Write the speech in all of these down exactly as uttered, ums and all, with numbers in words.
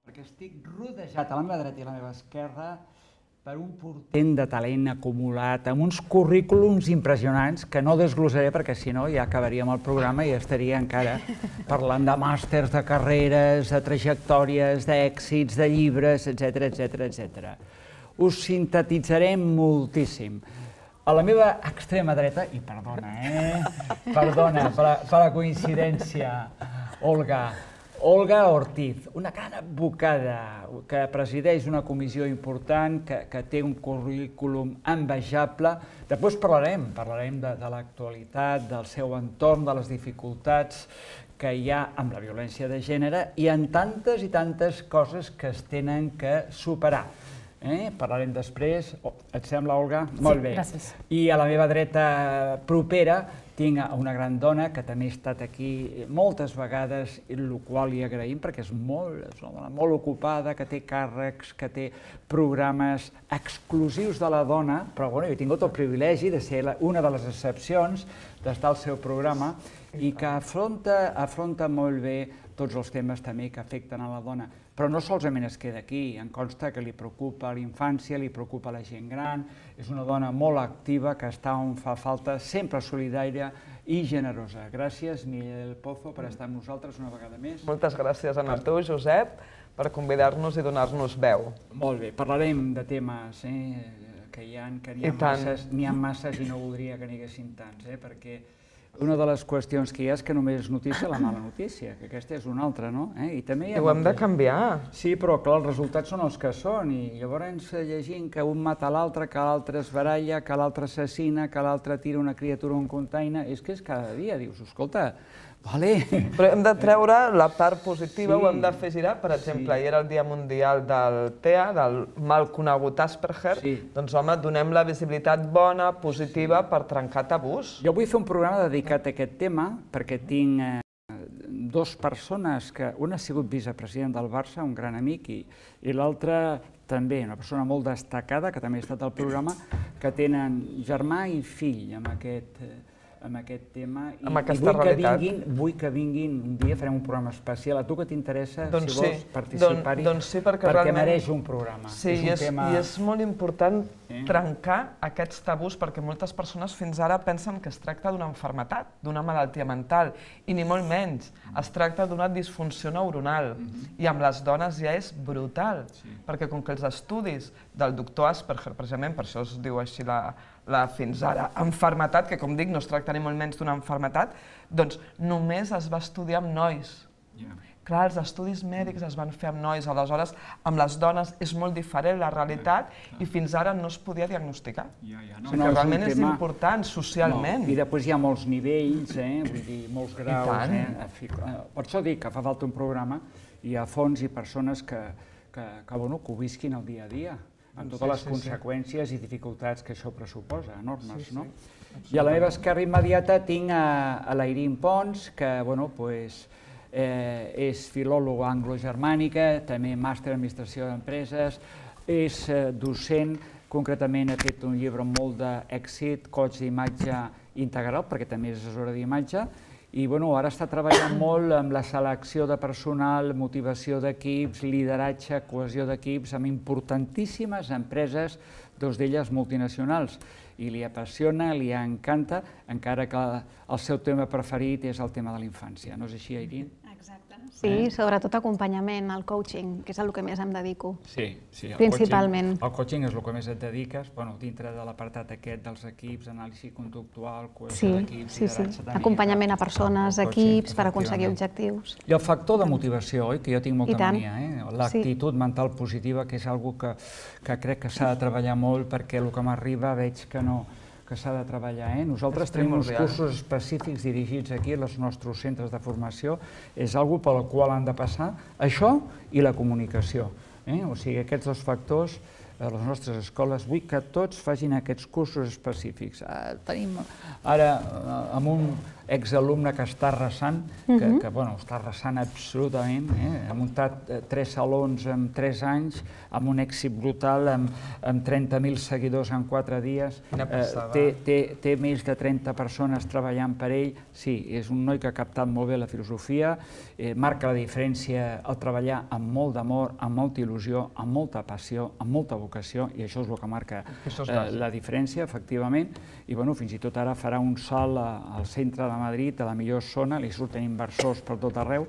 Perquè estic rodejat a la meva dreta i a la meva esquerra per un portent de talent acumulat, amb uns currículums impressionants que no desglossaré perquè si no ja acabaríem el programa i estaria encara parlant de màsters, de carreres, de trajectòries, d'èxits, de llibres, etcètera, etcètera, etcètera. Us sintetitzarem moltíssim. A la meva extrema dreta, i perdona, eh? Perdona per la coincidència, Olga, Olga Ortiz, una gran advocada que presideix una comissió important, que té un currículum envejable. Després parlarem, parlarem de l'actualitat, del seu entorn, de les dificultats que hi ha amb la violència de gènere i en tantes i tantes coses que es tenen que superar. Parlarem després. Et sembla, Olga? Molt bé. Gràcies. I a la meva dreta propera tinc una gran dona que també ha estat aquí moltes vegades, el qual li agraïm perquè és una dona molt ocupada, que té càrrecs, que té programes exclusius de la dona, però jo he tingut el privilegi de ser una de les excepcions d'estar al seu programa i que afronta molt bé tots els temes també que afecten a la dona. Però no solament es queda aquí, em consta que li preocupa la infància, li preocupa la gent gran, és una dona molt activa que està on fa falta, sempre solidària i generosa. Gràcies, Miguel Pozo, per estar amb nosaltres una vegada més. Moltes gràcies a tu, Josep, per convidar-nos i donar-nos veu. Molt bé, parlarem de temes que hi ha, que n'hi ha masses i no voldria que n'hi haguessin tants, perquè una de les qüestions que hi ha és que només és notícia la mala notícia, que aquesta és una altra, no? I ho hem de canviar. Sí, però clar, els resultats són els que són i llavors llegint que un mata l'altre, que l'altre es baralla, que l'altre assassina, que l'altre tira una criatura a un container, és que és cada dia, dius, escolta, vale. Però hem de treure la part positiva, ho hem de fer girar, per exemple, ahir era el Dia Mundial del T E A, del mal conegut Asperger, doncs home, donem la visibilitat bona, positiva, per trencar tabús. Jo vull fer un programa dedicat a aquest tema, perquè tinc dues persones, que una ha sigut vicepresident del Barça, un gran amic, i l'altra també, una persona molt destacada, que també ha estat al programa, que tenen germà i fill amb aquest amb aquest tema, i vull que vinguin un dia, farem un programa especial. A tu que t'interessa, si vols participar-hi, perquè mereix un programa. Sí, i és molt important trencar aquests tabús, perquè moltes persones fins ara pensen que es tracta d'una malaltia, d'una malaltia mental, i ni molt menys. Es tracta d'una disfunció neuronal, i amb les dones ja és brutal, perquè com que els estudis del doctor Asperger, precisament per això es diu així la fins ara malaltia, que com dic no es tracta ni molt menys d'una malaltia, doncs només es va estudiar amb nois. Clar, els estudis mèdics es van fer amb nois, aleshores amb les dones és molt diferent la realitat i fins ara no es podia diagnosticar. O sigui que realment és important socialment. I després hi ha molts nivells, vull dir, molts graus. Per això dic que fa falta un programa i a fons i persones que ho visquin el dia a dia, amb totes les conseqüències i dificultats que això pressuposa, enormes, no? I a la meva esquerra immediata tinc a l'Airín Pons, que és filòloga anglo-germànica, també màster en administració d'empreses, és docent, concretament ha fet un llibre amb molt d'èxit, Coach d'imatge integral, perquè també és assessora d'imatge, i ara està treballant molt amb la selecció de personal, motivació d'equips, lideratge, cohesió d'equips, amb importantíssimes empreses, dues d'elles multinacionals. I li apassiona, li encanta, encara que el seu tema preferit és el tema de la infància. No és així, Airín? Exacte. Sí, sobretot acompanyament, el coaching, que és el que més em dedico. Sí, sí. Principalment. El coaching és el que més et dediques, dintre de l'apartat aquest dels equips, anàlisi conductual, cohesió d'equips, lideratge... Sí, sí, acompanyament a persones, equips, per aconseguir objectius. I el factor de motivació, oi? Que jo tinc molta mania, l'actitud mental positiva, que és una cosa que crec que s'ha de treballar molt, perquè el que m'arriba veig que no... que s'ha de treballar. Nosaltres tenim uns cursos específics dirigits aquí als nostres centres de formació. És una cosa per la qual han de passar això i la comunicació. O sigui, aquests dos factors, a les nostres escoles, vull que tots facin aquests cursos específics. Tenim ara, amb un exalumne que està arrasant, que, que bueno, està arrasant absolutament, eh? Ha muntat tres salons en tres anys, amb un èxit brutal, amb, amb trenta mil seguidors en quatre dies, eh, té, té, té més de trenta persones treballant per ell. Sí, és un noi que ha captat molt bé la filosofia, eh, marca la diferència al treballar amb molt d'amor, amb molta il·lusió, amb molta passió, amb molta vocació, i això és el que marca eh, la diferència, efectivament. I bueno, fins i tot ara farà un salt al centre de Madrid, a la millor zona, li surten inversors per tot arreu.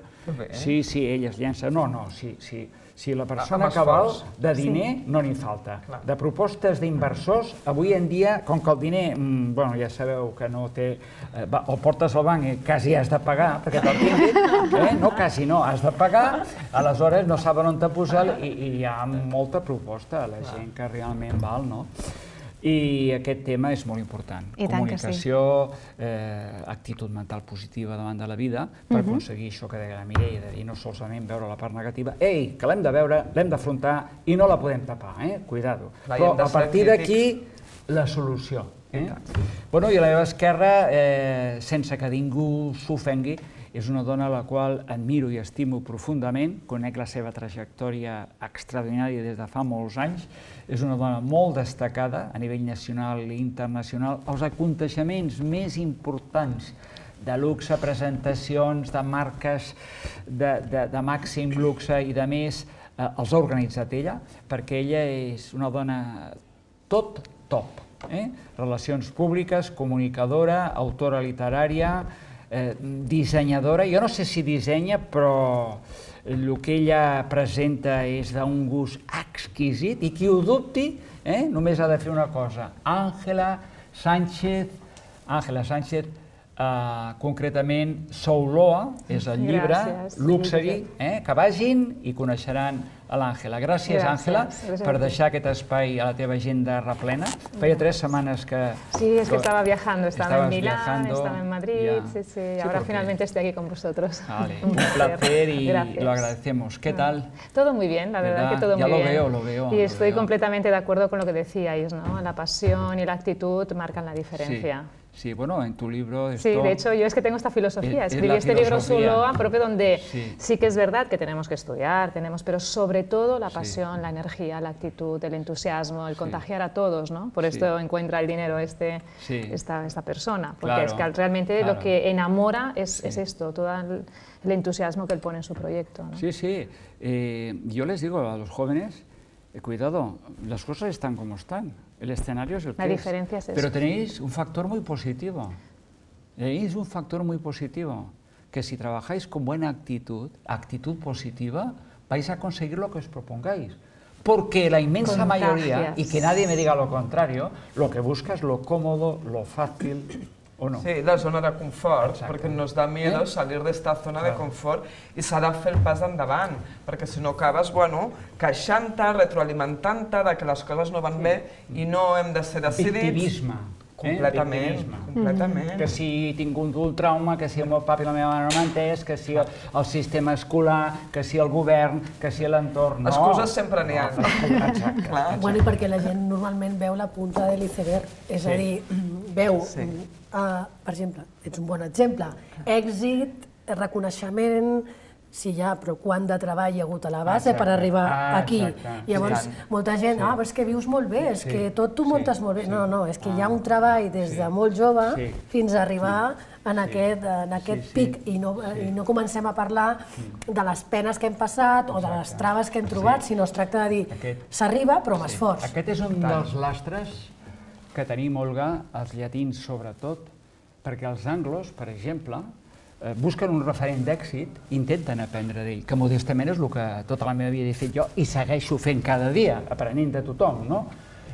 Sí, sí, ell es llença. No, no, sí, sí. Si la persona que val de diner no n'hi falta. De propostes d'inversors, avui en dia, com que el diner, bueno, ja sabeu que no té... O portes al banc i quasi has de pagar, perquè te'l tinguin, no, quasi no, has de pagar, aleshores no saben on te posar i hi ha molta proposta a la gent que realment val, no? I aquest tema és molt important. Comunicació, actitud mental positiva davant de la vida, per aconseguir això que deia la Mireia, de dir no solament veure la part negativa, ei, que l'hem de veure, l'hem d'afrontar i no la podem tapar, eh? Cuidado. Però a partir d'aquí, la solució. Bueno, i a la meva esquerra, sense que ningú s'ofengui, és una dona a la qual admiro i estimo profundament, conec la seva trajectòria extraordinària des de fa molts anys, és una dona molt destacada a nivell nacional i internacional. Els aconteixements més importants de luxe, presentacions de marques de màxim luxe i de més, els ha organitzat ella, perquè ella és una dona tot top. Relacions públiques, comunicadora, autora literària, dissenyadora. Jo no sé si dissenya, però el que ella presenta és d'un gust exquisit i qui ho dubti només ha de fer una cosa. Àngela Sánchez, Àngela Sánchez, concretament Souloa, és el llibre, Luxury, que vagin i coneixeran a l'Àngela. Gràcies, Àngela, per deixar aquest espai a la teva agenda replena. Feia tres setmanes que... Sí, es que estaba viajando, estaba en Milán, estaba en Madrid, sí, sí, ahora finalmente estoy aquí con vosotros. Vale, un placer y lo agradecemos. ¿Qué tal? Todo muy bien, la verdad que todo muy bien. Ya lo veo, lo veo. Y estoy completamente de acuerdo con lo que decíais, ¿no? La pasión y la actitud marcan la diferencia. Sí, bueno, en tu libro... Esto sí, de hecho, yo es que tengo esta filosofía. Escribí este libro Souloa, propio donde sí. sí que es verdad que tenemos que estudiar, tenemos, pero sobre todo la pasión, sí. la energía, la actitud, el entusiasmo, el contagiar sí. a todos, ¿no? Por esto sí. encuentra el dinero este, sí. esta, esta persona, porque claro, es que realmente claro. lo que enamora es, sí. es esto, todo el, el entusiasmo que él pone en su proyecto, ¿no? Sí, sí. Eh, yo les digo a los jóvenes, eh, cuidado, las cosas están como están. El escenario es el que La diferencia es, es eso. Pero tenéis un factor muy positivo. Tenéis un factor muy positivo, que si trabajáis con buena actitud, actitud positiva, vais a conseguir lo que os propongáis. Porque la inmensa Contagias. mayoría, y que nadie me diga lo contrario, lo que busca es lo cómodo, lo fácil, ¿o no? Sí, la zona de confort, Exacte. perquè nos da miedo eh? salir d'esta zona claro. de confort i s'ha de fer el pas endavant, perquè si no acabes, bueno, queixant-te, retroalimentant-te de que les coses no van sí. bé i no hem de ser decidits. Victimisme. Completament, eh? completament. Que si he tingut un trauma, que si el meu papa i la meva mare no m'han entès, que si el, el sistema escolar, que si el govern, que si l'entorn... No. Excuses sempre n'hi ha. No. Exacte. Clar. Bueno, i perquè la gent normalment veu la punta de l'iceberg, és sí. a dir, veu, sí. uh, per exemple, ets un bon exemple, èxit, reconeixement, sí, ja, però quant de treball hi ha hagut a la base exacte. per arribar ah, aquí. Exacte. Llavors, sí. molta gent, sí. ah, però és que vius molt bé, és sí. que tot tu muntes sí. molt bé. Sí. No, no, és que ah. hi ha un treball des sí. de molt jove sí. fins a arribar sí. en aquest, en aquest sí, sí. pic i no, sí. i no comencem a parlar de les penes que hem passat o de les traves que hem trobat, sí. sinó es tracta de dir, s'arriba però amb sí. esforç. Aquest és un dels lastres que tenim, Olga, els llatins sobretot, perquè els anglos, per exemple, busquen un referent d'èxit i intenten aprendre d'ell, que modestament és el que tota la meva vida he fet jo i segueixo fent cada dia, aprenent de tothom, no?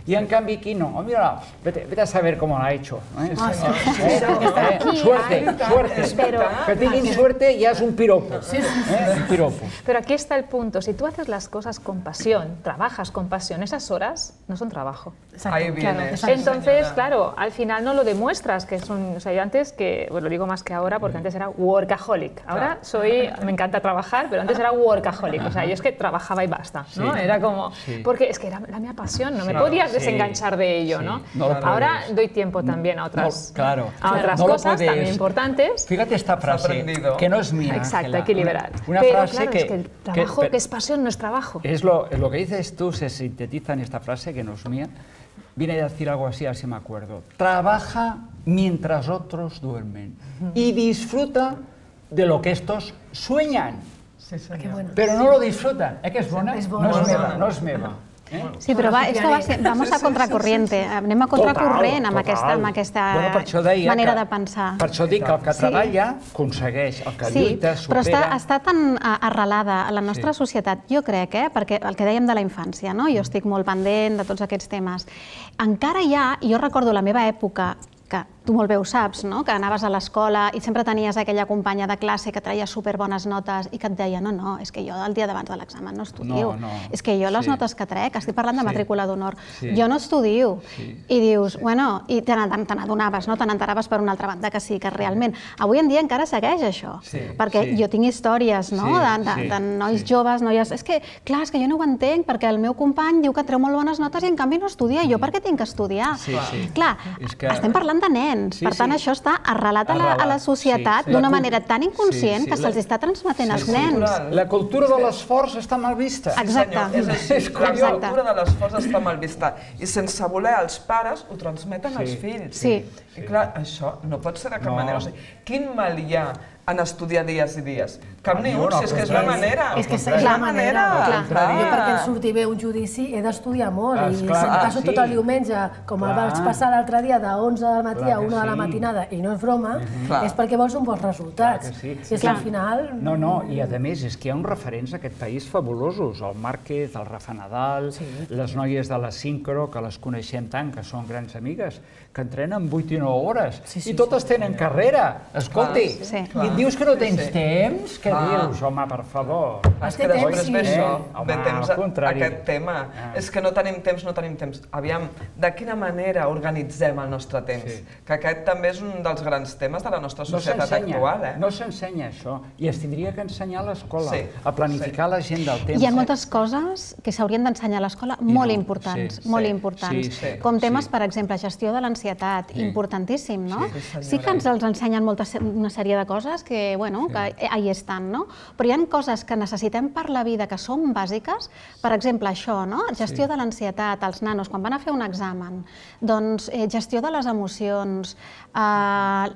Y en cambio aquí no, oh, mira, vete, vete a saber cómo lo ha hecho. ¿eh? Ah, sí, sí, sí, sí. Eh, aquí, suerte, ay, suerte. Pero, que tengan suerte ya es un piropo. Sí, sí, sí. ¿eh? Un piropo. Pero aquí está el punto, si tú haces las cosas con pasión, trabajas con pasión, esas horas no son trabajo. Ahí viene. Claro. Entonces, claro, al final no lo demuestras, que son, o sea, yo antes, que, bueno, lo digo más que ahora, porque antes era workaholic. Ahora soy, me encanta trabajar, pero antes era workaholic. O sea, yo es que trabajaba y basta, ¿no? Sí. Era como, sí. porque es que era la mía pasión, no sí. me podía puedes desenganchar de ello, ¿no? Ahora doy tiempo también a otras cosas también importantes. Fíjate esta frase, que no es mía. Exacto, hay que liberar. Una Pero frase claro, que... es que el trabajo que es pasión no es trabajo. Es lo que dices tú, se sintetiza en esta frase, que no es mía. Viene a decir algo así, así me acuerdo. Trabaja mientras otros duermen y disfruta de lo que estos sueñan. Sí, senyor. bueno. Però no lo disfrutan. Eh, que és bona? És bona. No és meva, no és meva. Eh? Sí, però va, esto va ser, vamos a contracorriente, anem a contracorrent amb aquesta, amb aquesta bueno, per això deia manera que, de pensar. Per això dic que el que treballa aconsegueix, el que Sí, lluita, supera... però està, està tan eh, arrelada a la nostra Sí. societat, jo crec, eh, perquè el que dèiem de la infància, no? Jo estic molt pendent de tots aquests temes. Encara hi ha, jo recordo la meva època, que tu molt bé ho saps, no? Que anaves a l'escola i sempre tenies aquella companya de classe que traia superbones notes i que et deia no, no, és que jo el dia d'abans de l'examen no estudio. No, no. És que jo les Sí. notes que trec, estic parlant de Sí. matrícula d'honor, Sí. jo no estudio. Sí. I dius, bueno, i te n'adonaves, no? Te n'enteraves per una altra banda que sí, que realment... Avui en dia encara segueix això, Sí, perquè sí. jo tinc històries, no?, Sí, de, de, sí, de nois sí. joves, noies... És que, clar, és que jo no ho entenc, perquè el meu company diu que treu molt bones notes i en canvi no estudia. Jo per què tinc que estudiar? Sí, sí. Clar, És que- estem parlant de nens, Sí, per tant sí. això està arrelat a la, a la Arrelat, societat sí. d'una La cul- manera tan inconscient sí, sí. que se'ls està transmetent als Sí, nens. cultural. La cultura de l'esforç està mal vista. Exacte. Senyor, és així, És la Exacte. cultura de l'esforç està mal vista. I sense voler, els pares ho transmeten als fills. Sí. I clar, això no pot ser de cap No. manera. O sigui, quin mal hi ha en estudiar dies i dies? Cap ni Ni un, un, si és que és la al contrari. manera. És que és És la manera. Clar. Clar. Jo perquè em surti bé un judici he d'estudiar molt Ah, i esclar, si em passo sí. tot el diumenge, com el Clar. vaig passar l'altre dia de onze del matí Clar a que una de la sí. matinada i no és broma, Clar. és perquè vols uns bons resultats. Clar que sí. I és que al final... No, no, i a més és que hi ha uns referents a aquest país fabulosos, el Márquez, el Rafa Nadal, les noies de la Sincro, que les coneixem tant, que són grans amigues, que entrenen vuit i nou hores, Sí, sí, i totes tenen carrera. Escolti, Sí. i et dius que no tens Sí. temps? Què Clar. dius, home, per favor? És té que després temps, ve sí. això, Eh? Home, ve temps al a contrari. aquest tema. Ah. És que no tenim temps, no tenim temps. Aviam, de quina manera organitzem el nostre temps? Sí. Que aquest també és un dels grans temes de la nostra No societat s'ensenya, actual, eh? no s'ensenya això, i es tindria que ensenyar a l'escola, Sí, a planificar la gent del temps. Hi ha moltes coses que s'haurien d'ensenyar a l'escola molt no, importants, sí, molt sí, importants. sí, sí, Com temes, sí. per exemple, gestió de l'ansietat, Sí. importantíssim, no? Sí, senyora. Sí que ens els ensenyen moltes, una sèrie de coses que, bueno, que ahí estan, no? Però hi ha coses que necessitem per la vida que són bàsiques, per exemple, això, no? Gestió de l'ansietat, els nanos, quan van a fer un examen, doncs eh, gestió de les emocions, eh,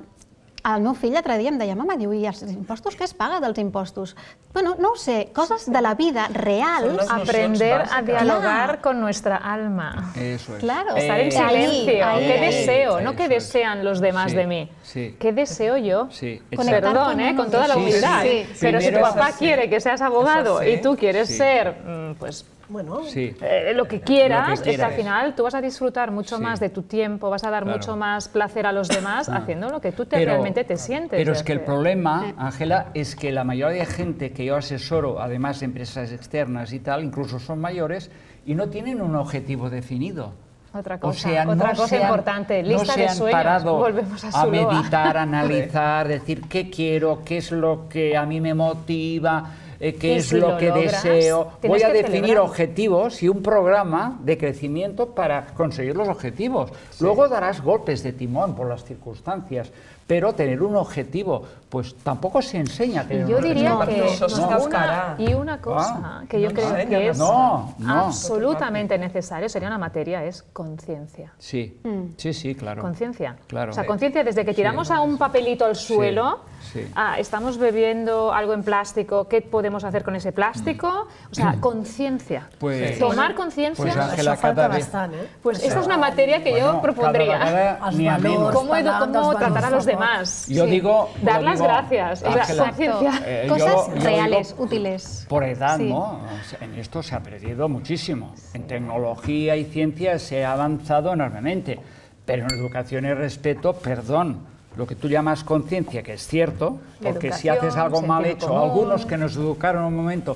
el meu fill l'altre dia em deia, mama, diu, i els impostos, què es paga dels impostos? Bueno, no ho sé, coses de la vida reals. Són les Aprender nocions a bàsiques. dialogar Claro. con nuestra alma. Eso es. Claro. Estar en Eh, silencio. ahí, ¿Qué ahí, deseo? ahí, No qué eso es. desean los demás Sí, de mí. sí. ¿Qué deseo yo? Sí, Conectar Perdón, con ¿eh? uno Con toda la mismo. humildad. Sí, sí. Pero si tu Primero- papá Eso sí. quiere que seas abogado Eso sí. y tú quieres Sí. ser, mm, pues, Bueno, Sí. eh, lo que quieras, Lo que es que al quieras. final tú vas a disfrutar mucho Sí. más de tu tiempo, vas a dar Claro. mucho más placer a los demás haciendo lo que tú te, Pero- realmente te sientes. Pero de es que el hacer. problema, Ángela, es que la mayoría de gente que yo asesoro, además de empresas externas y tal, incluso son mayores, y no tienen un objetivo definido. Otra O cosa, sea, otra no cosa se han- importante, no lista se de han sueños. parado Volvemos a a Zuloa. meditar, analizar, decir qué quiero, qué es lo que a mí me motiva, eh, qué Y es si lo, lo que logras, deseo. tienes Voy a que definir celebrar. objetivos y un programa de crecimiento para conseguir los objetivos. Luego darás golpes de timón por las circunstancias, pero tener un objetivo, pues tampoco se enseña a tener Yo un diría objetivo. que Eso está una, cara. y una cosa Ah, que yo no creo enseñan que a es No, no. absolutamente necesario, sería una materia, es conciencia. Sí, sí, sí, claro. Conciencia. Claro. O sea, conciencia desde que tiramos a un papelito al suelo, sí. ah, estamos bebiendo algo en plástico, ¿qué podemos hacer con ese plástico? O sea, conciencia. Pues- Tomar conciencia. Pues, Ángela, això falta cada vez- bastant, eh? Pues esta es una materia que yo Bueno, propondría. cada vegada Els n'hi ha valors. menys. ¿Cómo, edu- Parlant cómo dels tratar a valors, los por demás? Yo digo... Dar yo las digo, gracias. O sea, Ángela, conciencia. eh, Cosas yo- yo reales, digo, útiles. por edad, Sí. ¿no? En esto se ha perdido muchísimo. En tecnología y ciencia se ha avanzado enormemente. Pero en educación y respeto, perdón, lo que tú llamas conciencia, que es cierto, porque si Educación, haces algo mal sentido hecho, común. algunos que nos educaron un momento,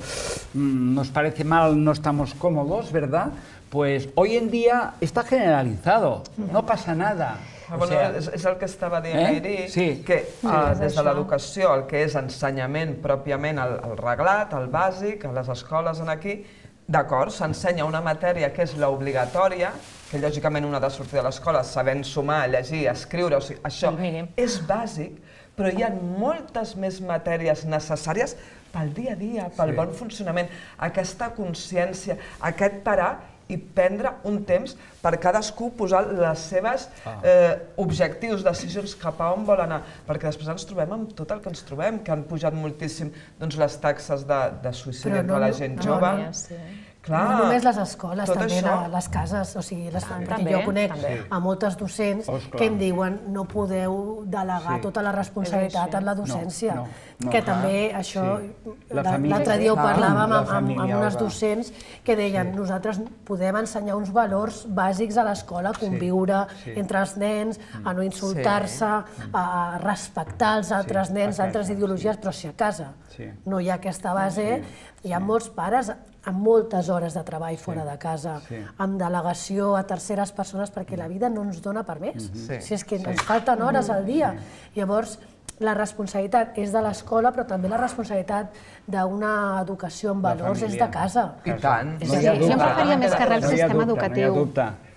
mmm, nos parece mal, no estamos cómodos, ¿verdad? Pues hoy en día está generalizado, no pasa nada. Ah, O bueno, sea, és, és el que estava dient Eh? ahir, Sí. que uh, és des de això. l'educació, el que és ensenyament pròpiament, el, el reglat, el bàsic, a les escoles en aquí, d'acord, s'ensenya una matèria que és l'obligatòria, que lògicament un ha de sortir de l'escola sabent sumar, llegir, escriure, o sigui, això és bàsic, però hi ha moltes més matèries necessàries pel dia a dia, pel bon funcionament, aquesta consciència, aquest parar i prendre un temps per cadascú posar les seves objectius, decisions cap a on vol anar, perquè després ens trobem amb tot el que ens trobem, que han pujat moltíssim les taxes de suïcidi entre la gent jove. No només les escoles, també les cases, o sigui, perquè jo conec a moltes docents que em diuen no podeu delegar tota la responsabilitat en la docència, que també això, l'altre dia ho parlàvem amb unes docents que deien nosaltres podem ensenyar uns valors bàsics a l'escola, conviure entre els nens, a no insultar-se, a respectar els altres nens, altres ideologies, però si a casa no hi ha aquesta base, hi ha molts pares amb moltes hores de treball fora de casa, amb delegació a terceres persones, perquè la vida no ens dona per més. Si és que ens falten hores al dia. Llavors, la responsabilitat és de l'escola, però també la responsabilitat d'una educació amb valors és de casa. I tant. Jo em referia més que res al sistema educatiu.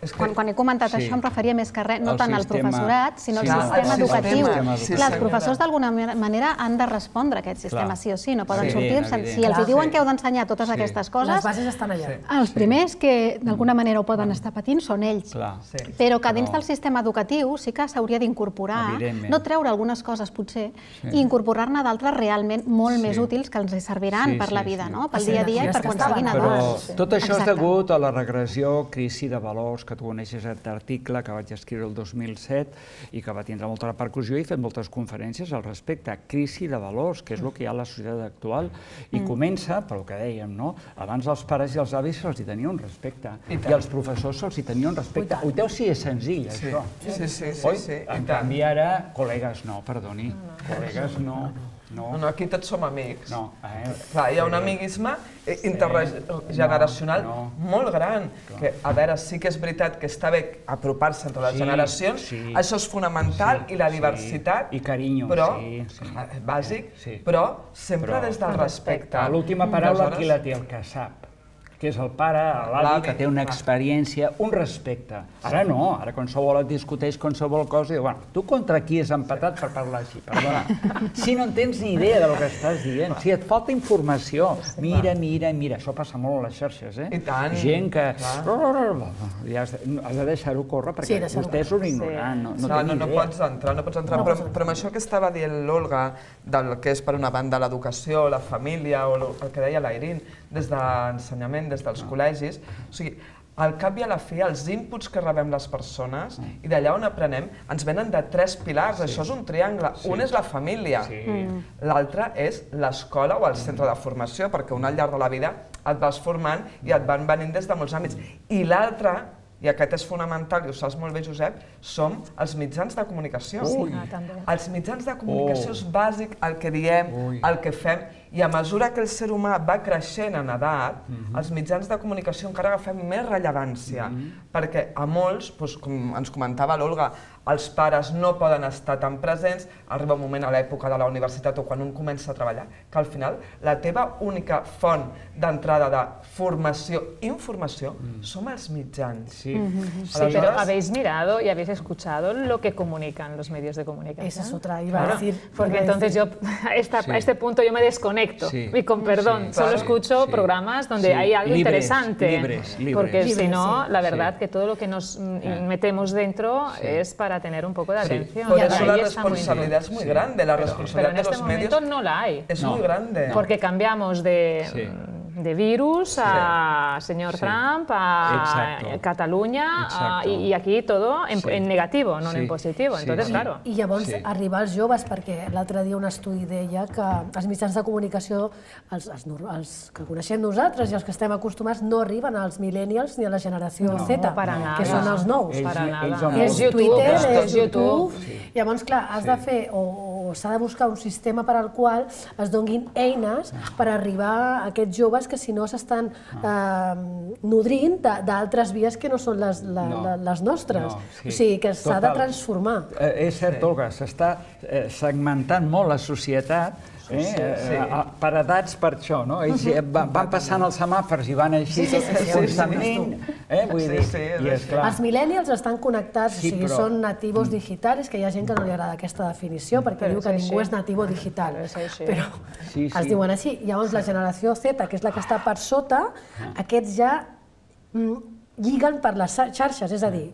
Quan he comentat això em referia més que res, no tant al professorat, sinó al sistema educatiu. Clar, els professors d'alguna manera han de respondre a aquest sistema, sí o sí, no poden sortir-se. Si els diuen que heu d'ensenyar totes aquestes coses, les bases estan allà. Els primers que d'alguna manera ho poden estar patint són ells. Però que dins del sistema educatiu sí que s'hauria d'incorporar, no treure algunes coses potser, i incorporar-ne d'altres realment molt més útils que ens serviran per la vida, pel dia a dia i per quan siguin adults. Però tot això és degut a la regressió, crisi de valors, que tu coneixes aquest article que vaig escriure el dos mil set i que va tindre molta repercussió i he fet moltes conferències al respecte. Crisi de valors, que és el que hi ha a la societat actual. I comença, pel que dèiem, no? Abans els pares i els avis se'ls hi tenia un respecte i els professors se'ls hi tenia un respecte. Ho veu si és senzill, això? Sí, sí, sí. En canvi ara, col·legues no, perdoni, col·legues no. No, aquí tots som amics. No. Clar, hi ha un amiguisme intergeneracional molt gran, que, a veure, sí que és veritat que està bé apropar-se entre les generacions, això és fonamental, i la diversitat, i carinyo, bàsic, però sempre des del respecte. L'última paraula qui la té? El que sap, que és el pare, l'avi, que té una experiència, un respecte. Ara no, ara qualsevol et discuteix qualsevol cosa i diu, bueno, tu contra qui has empatat per parlar així? Perdona. Si no en tens ni idea del que estàs dient, si et falta informació, mira, mira, mira, això passa molt a les xarxes, eh? I tant. Gent que... Has de deixar-ho córrer perquè vostè és un ignorant, no té ni idea. No pots entrar, no pots entrar. Però amb això que estava dient l'Olga, del que és per una banda l'educació, la família, o el que deia l'Airín, des d'ensenyament, des dels col·legis, o sigui, al cap i a la fi, els inputs que rebem les persones i d'allà on aprenem ens venen de tres pilars, això és un triangle. Un és la família, l'altre és l'escola o el centre de formació, perquè un al llarg de la vida et vas formant i et van venint des de molts àmbits. I l'altre, i aquest és fonamental, i ho saps molt bé, Josep, som els mitjans de comunicació. Els mitjans de comunicació és bàsic el que diem, el que fem, i a mesura que el ser humà va creixent en edat, els mitjans de comunicació encara agafem més rellevància, perquè a molts, com ens comentava l'Olga, els pares no poden estar tan presents, arriba un moment a l'època de la universitat o quan un comença a treballar, que al final la teva única font d'entrada de formació i informació som els mitjans. Sí, pero habéis mirado y habéis escuchado lo que comunican los medios de comunicación. Esa es otra, iba a decir. Porque entonces yo, a este punto yo me desconecto y con perdón, solo escucho programas donde hay algo interesante. Porque si no, la verdad que todo lo que nos metemos dentro es para tener un poco de atención. Por eso la responsabilidad es muy grande, la responsabilidad de los medios. Pero en este momento no la hay. Es muy grande. Porque cambiamos de... de virus a señor Trump, a Catalunya, i aquí todo en negativo, no en positivo. Entonces, claro. I llavors arribar als joves, perquè l'altre dia un estudi deia que els mitjans de comunicació, els que coneixem nosaltres i els que estem acostumats, no arriben als millennials ni a la generació Z, que són els nous. És Twitter, és YouTube. Llavors, clar, has de fer, o s'ha de buscar un sistema per al qual es donin eines per arribar a aquests joves que si no s'estan nodrint d'altres vies que no són les nostres. O sigui, que s'ha de transformar. És cert, Olga, s'està segmentant molt la societat Per edats, per això, no? Ells van passant els semàfors i van així constantment. Els millennials estan connectats, o sigui, són nativos digitals, que hi ha gent que no li agrada aquesta definició, perquè diu que ningú és nativo digital, però es diuen així. Llavors, la generació Z, que és la que està per sota, aquests ja lliguen per les xarxes, és a dir,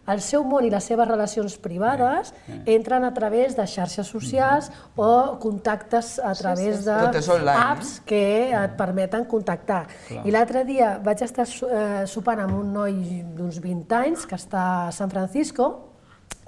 el seu món i les seves relacions privades entren a través de xarxes socials o contactes a través d'apps que et permeten contactar. I l'altre dia vaig estar sopant amb un noi d'uns vint anys que està a San Francisco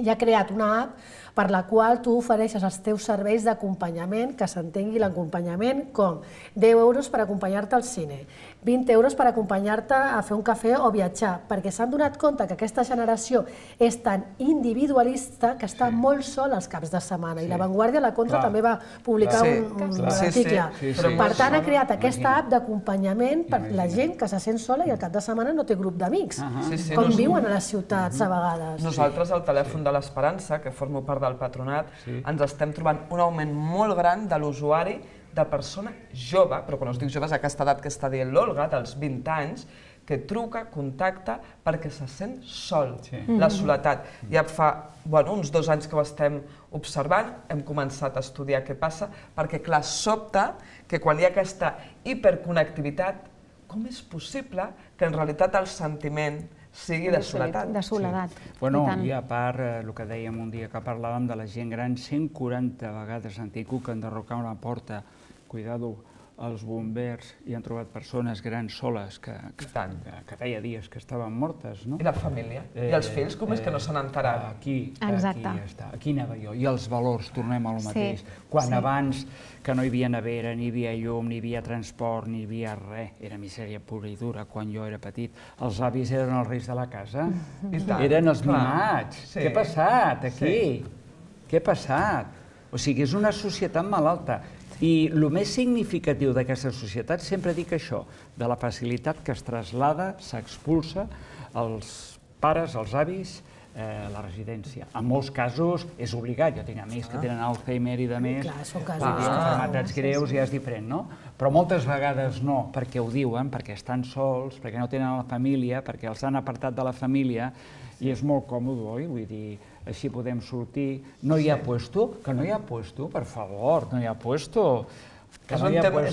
i ha creat una app per la qual tu ofereixes els teus serveis d'acompanyament, que s'entengui l'acompanyament com deu euros per acompanyar-te al cine, vint euros per acompanyar-te a fer un cafè o viatjar, perquè s'han donat compte que aquesta generació és tan individualista que està molt sol els caps de setmana. I La Vanguardia, La Contra, també va publicar un article. Per tant, ha creat aquesta app d'acompanyament per la gent que se sent sola i al cap de setmana no té grup d'amics, com viuen a les ciutats a vegades. Nosaltres, al telèfon de l'Esperança, que formo part del patronat, ens estem trobant un augment molt gran de l'usuari de persona jove, però quan us dic jove és aquesta edat que està dient l'Olga, dels vint anys, que truca, contacta, perquè se sent sol, la soledat. Ja fa uns dos anys que ho estem observant, hem començat a estudiar què passa, perquè clar, sobta que quan hi ha aquesta hiperconnectivitat, com és possible que en realitat el sentiment sigui de soledat. De soledat. Bueno, i a part, el que dèiem un dia que parlàvem de la gent gran, cent quaranta vegades han tingut que enderrocar una porta. Cuidado, els bombers hi han trobat persones grans soles que feia dies que estaven mortes, no? I la família? I els fills, com és que no s'han enterat? Aquí, aquí està. Aquí anava jo. I els valors, tornem a lo mateix. Quan abans que no hi havia nevera, ni hi havia llum, ni hi havia transport, ni hi havia res, era misèria pura i dura quan jo era petit. Els avis eren els reis de la casa, eren els mimats. Què ha passat aquí? Què ha passat? O sigui, és una societat malalta. I el més significatiu d'aquesta societat, sempre dic això, de la facilitat que es traslada, s'expulsa als pares, als avis, la residència. En molts casos és obligat. Jo tinc amics que tenen Alzheimer i de més, malalties greus, ja és diferent, no? Però moltes vegades no, perquè ho diuen, perquè estan sols, perquè no tenen la família, perquè els han apartat de la família, i és molt còmode, oi? Vull dir, així podem sortir. No hi ha puesto? Que no hi ha puesto, per favor, no hi ha puesto. És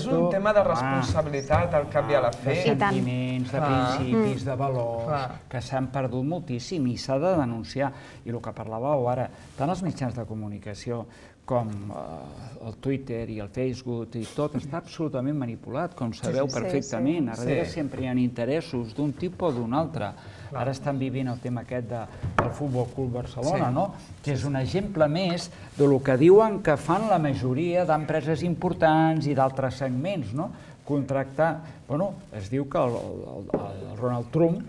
un tema de responsabilitat al cap i a la fi. De sentiments, de principis, de valors, que s'han perdut moltíssim i s'ha de denunciar. I el que parlàveu ara, tant els mitjans de comunicació com el Twitter i el Facebook i tot està absolutament manipulat, com sabeu perfectament. A darrere sempre hi ha interessos d'un tipus o d'un altre. Ara estan vivint el tema aquest del Futbol Club Barcelona, que és un exemple més del que diuen que fan la majoria d'empreses importants i d'altres segments, contractar... Bueno, es diu que el Donald Trump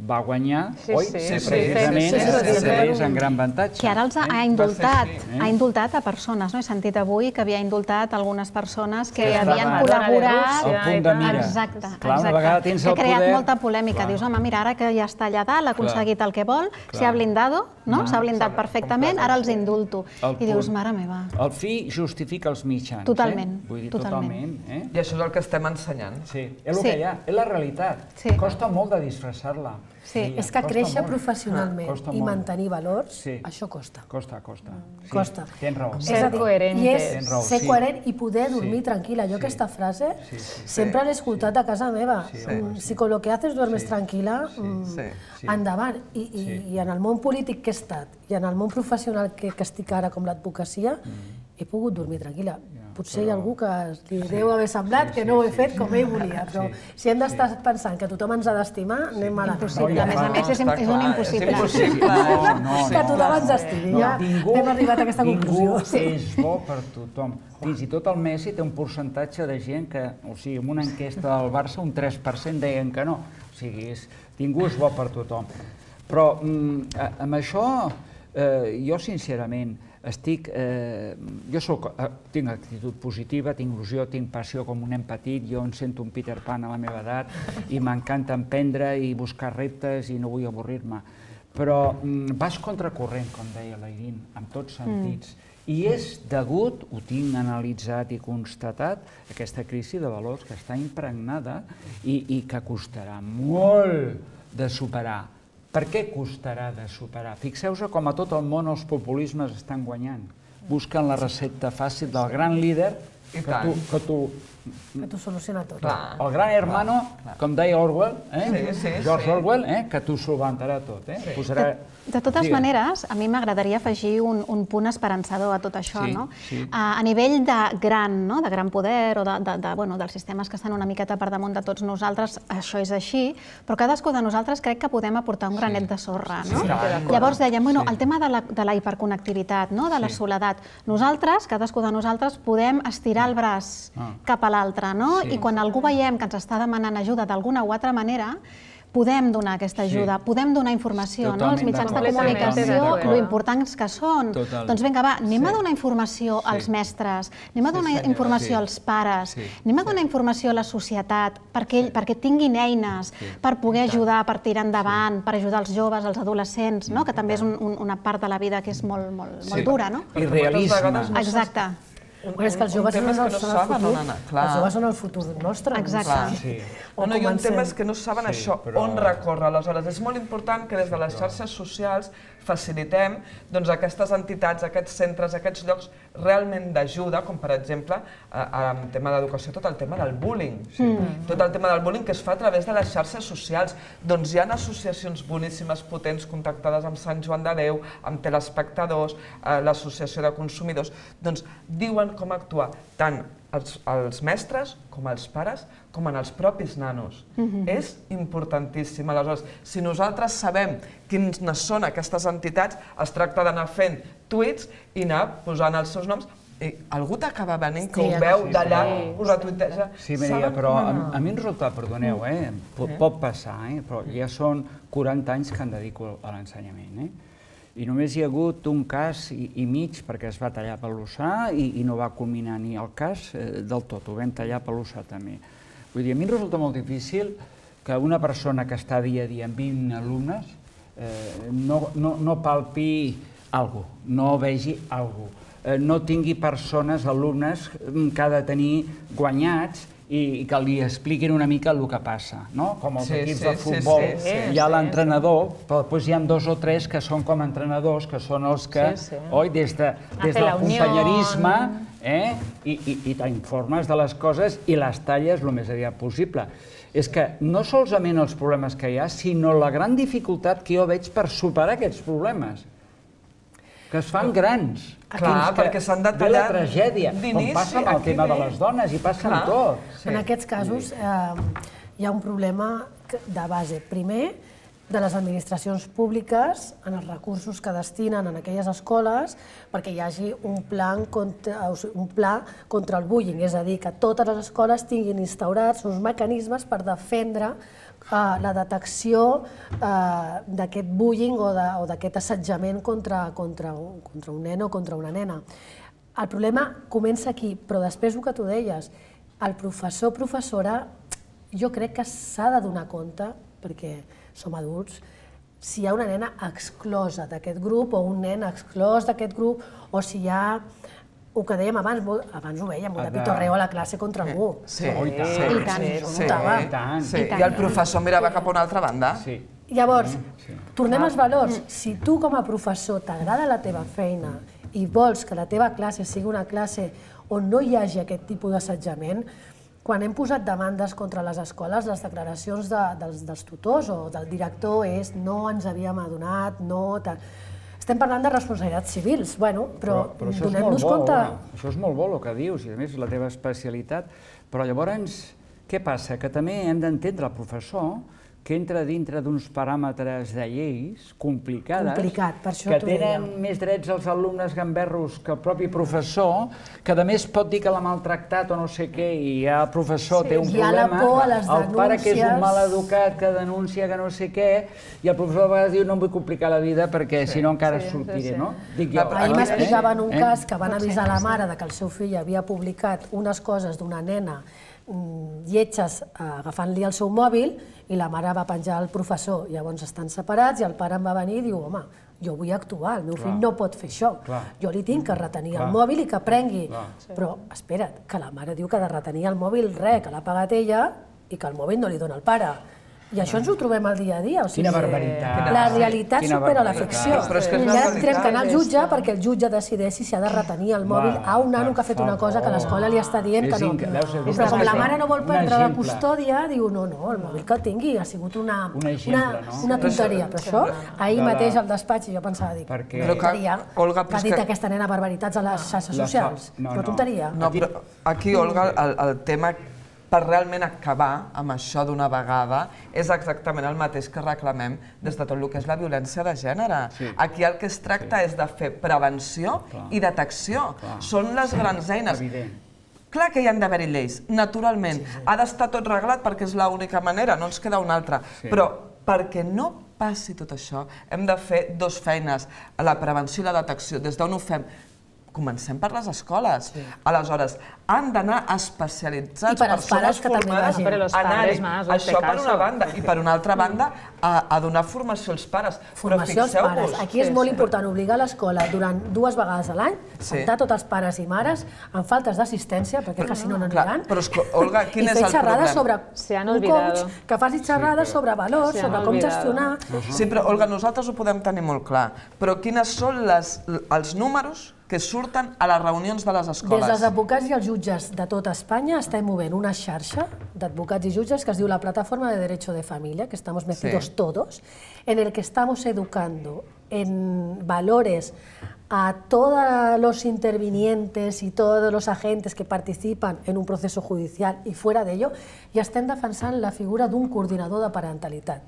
va guanyar, oi? Precisament és en gran avantatge. Que ara els ha indultat, ha indultat a persones, no? He sentit avui que havia indultat algunes persones que havien col·laborat... Al punt de mira. Exacte, exacte. Que ha creat molta polèmica. Dius, home, mira, ara que ja està allà dalt, ha aconseguit el que vol, s'ha blindado, no? S'ha blindat perfectament, ara els indulto. I dius, mare meva. El fi justifica els mitjans. Totalment, totalment. I això és el que estem ensenyant. Sí, és el que hi ha, és la realitat. Costa molt de disfressar-la. Sí, és que créixer professionalment i mantenir valors, això costa. Costa, costa. Costa. Tens raó. Ser coherent. I és ser coherent i poder dormir tranquil·la. Jo aquesta frase sempre l'he escoltat a casa meva. Si con lo que haces duermes tranquil·la, endavant. I en el món polític que he estat i en el món professional que estic ara com l'advocacia, he pogut dormir tranquil·la. Potser hi ha algú que li deu haver semblat que no ho he fet com ell volia, però si hem d'estar pensant que tothom ens ha d'estimar, anem malament. Impossible, a més a més és un impossible. Que tothom ens estimi, ja hem arribat a aquesta conclusió. Ningú és bo per tothom. Fins i tot el Messi té un percentatge de gent que, o sigui, en una enquesta del Barça un tres per cent deien que no. O sigui, ningú és bo per tothom. Però amb això, jo sincerament, estic, jo tinc actitud positiva, tinc il·lusió, tinc passió com un nen petit, jo em sento un Peter Pan a la meva edat i m'encanta emprendre i buscar reptes i no vull avorrir-me. Però vas contracorrent, com deia la Irín, en tots sentits, I és degut, ho tinc analitzat i constatat, aquesta crisi de valors que està impregnada i que costarà molt de superar. Per què costarà de superar? Fixeu-vos com a tot el món els populismes estan guanyant. Busquen la recepta fàcil del gran líder que tu... Que t'ho soluciona tot. El gran hermano, com deia Orwell, George Orwell, que t'ho solventarà tot. De totes maneres, a mi m'agradaria afegir un punt esperançador a tot això. A nivell de gran poder o dels sistemes que estan una miqueta per damunt de tots nosaltres, això és així, però cadascú de nosaltres crec que podem aportar un granet de sorra. Llavors dèiem, el tema de la hiperconnectivitat, de la soledat, nosaltres, cadascú de nosaltres, podem estirar el braç cap a l'altre, i quan algú veiem que ens està demanant ajuda d'alguna o altra manera, podem donar aquesta ajuda, podem donar informació, els mitjans de comunicació, lo importants que són. Doncs vinga, va, anem a donar informació als mestres, anem a donar informació als pares, anem a donar informació a la societat perquè tinguin eines per poder ajudar, per tirar endavant, per ajudar els joves, els adolescents, que també és una part de la vida que és molt dura. I realisme. Exacte. És que els joves són el futur. Els joves són el futur nostre. Exacte. I un tema és que no saben això, on recórrer. Aleshores, és molt important que des de les xarxes socials facilitem aquestes entitats, aquests centres, aquests llocs realment d'ajuda, com per exemple, en tema d'educació, tot el tema del bullying. Tot el tema del bullying que es fa a través de les xarxes socials. Doncs hi ha associacions boníssimes, potents, contactades amb Sant Joan de Déu, amb telespectadors, l'associació de consumidors, doncs diuen com actuar tant els mestres com els pares com en els propis nanos. És importantíssim. Aleshores, si nosaltres sabem quines són aquestes entitats, es tracta d'anar fent tuits i anar posant els seus noms. Algú t'acaba venint que ho veu d'allà, ho retuiteja. Sí, Maria, però a mi em resulta, perdoneu, pot passar, però ja són quaranta anys que em dedico a l'ensenyament. I només hi ha hagut un cas i mig perquè es va tallar per l'Ossà i no va culminar ni el cas del tot, ho vam tallar per l'Ossà també. Vull dir, a mi em resulta molt difícil que una persona que està dia a dia amb vint alumnes no palpi alguna cosa, no vegi alguna cosa, no tingui persones, alumnes, que ha de tenir guanyats i que li expliquin una mica el que passa. Com els equips de futbol, hi ha l'entrenador, però després hi ha dos o tres que són com a entrenadors, que són els que, oi, des del companyerisme, i t'informes de les coses i les talles el més aviat possible. És que no solament els problemes que hi ha, sinó la gran dificultat que jo veig per superar aquests problemes, que es fan grans. Clar, perquè s'han de tallar d'inici. Ve la tragèdia, com passa amb el tema de les dones, i passa amb tot. En aquests casos hi ha un problema de base. Primer, de les administracions públiques, en els recursos que destinen en aquelles escoles, perquè hi hagi un pla contra el bullying, és a dir, que totes les escoles tinguin instaurats uns mecanismes per defendre la detecció d'aquest bullying o d'aquest assetjament contra un nen o contra una nena. El problema comença aquí, però després el que tu deies, el professor o professora, jo crec que s'ha de donar compte, perquè som adults, si hi ha una nena exclosa d'aquest grup o un nen exclòs d'aquest grup, o si hi ha el que dèiem abans, abans ho veiem, un pitorreo a la classe contra algú. Sí, i tant. I el professor mirava cap a una altra banda. Llavors, tornem als valors. Si tu com a professor t'agrada la teva feina i vols que la teva classe sigui una classe on no hi hagi aquest tipus d'assetjament, quan hem posat demandes contra les escoles, les declaracions dels tutors o del director és no ens havíem adonat, no... Estem parlant de responsabilitats civils, però donem-nos compte... Això és molt bo el que dius, i a més és la teva especialitat, però llavors què passa? Que també hem d'entendre el professor que entra dintre d'uns paràmetres de lleis complicades, que tenen més drets als alumnes gamberros que el propi professor, que a més pot dir que l'ha maltractat o no sé què, i ja el professor té un problema, el pare que és un maleducat que denuncia que no sé què, i el professor a vegades diu no em vull complicar la vida perquè si no encara sortiré, no? Ahir m'explicaven un cas que van avisar la mare que el seu fill havia publicat unes coses d'una nena lletges agafant-li el seu mòbil i la mare va penjar el professor. Llavors estan separats i el pare em va venir i diu, home, jo vull actuar, el meu fill no pot fer això. Jo li tinc que retenir el mòbil i que prengui. Però, espera't, que la mare diu que ha de retenir el mòbil res, que l'ha pagat ella i que el mòbil no li dona el pare. I això ens ho trobem al dia a dia. Quina barbaritat. La realitat supera la ficció. I ara tindrem que anar al jutge perquè el jutge decideixi si ha de retenir el mòbil a un nano que ha fet una cosa que l'escola li està dient que no. Però com la mare no vol prendre la custòdia, diu, no, no, el mòbil que el tingui ha sigut una tonteria. Però això, ahir mateix al despatx, jo pensava, dic, una tonteria, que ha dit aquesta nena barbaritats a les xarxes socials. Una tonteria. No, però aquí, Olga, el tema per realment acabar amb això d'una vegada és exactament el mateix que reclamem des de tot el que és la violència de gènere. Aquí el que es tracta és de fer prevenció i detecció. Són les grans eines. Clar que hi han d'haver-hi lleis, naturalment. Ha d'estar tot reglat perquè és l'única manera, no ens queda una altra. Però perquè no passi tot això, hem de fer dues feines, la prevenció i la detecció. Des d'on ho fem? Comencem per les escoles. Aleshores, han d'anar especialitzats persones formades a anar-hi. Això per una banda. I per una altra banda, a donar formació als pares. Formació als pares. Aquí és molt important obligar l'escola durant dues vegades a l'any, sentar tots els pares i mares amb faltes d'assistència, perquè si no no aniran, i fer xerrades sobre un coach, que faci xerrades sobre valors, sobre com gestionar. Sí, però, Olga, nosaltres ho podem tenir molt clar, però quines són els números que surten a les reunions de les escoles? Des dels advocats i els jutges de tota Espanya estem movent una xarxa d'advocats i jutges que es diu la Plataforma de Derecho de Familia, que estamos metidos todos, en el que estamos educando en valores a todos los intervinientes y todos los agentes que participan en un proceso judicial y fuera de ello, i estem defensant la figura d'un coordinador de parentalitat.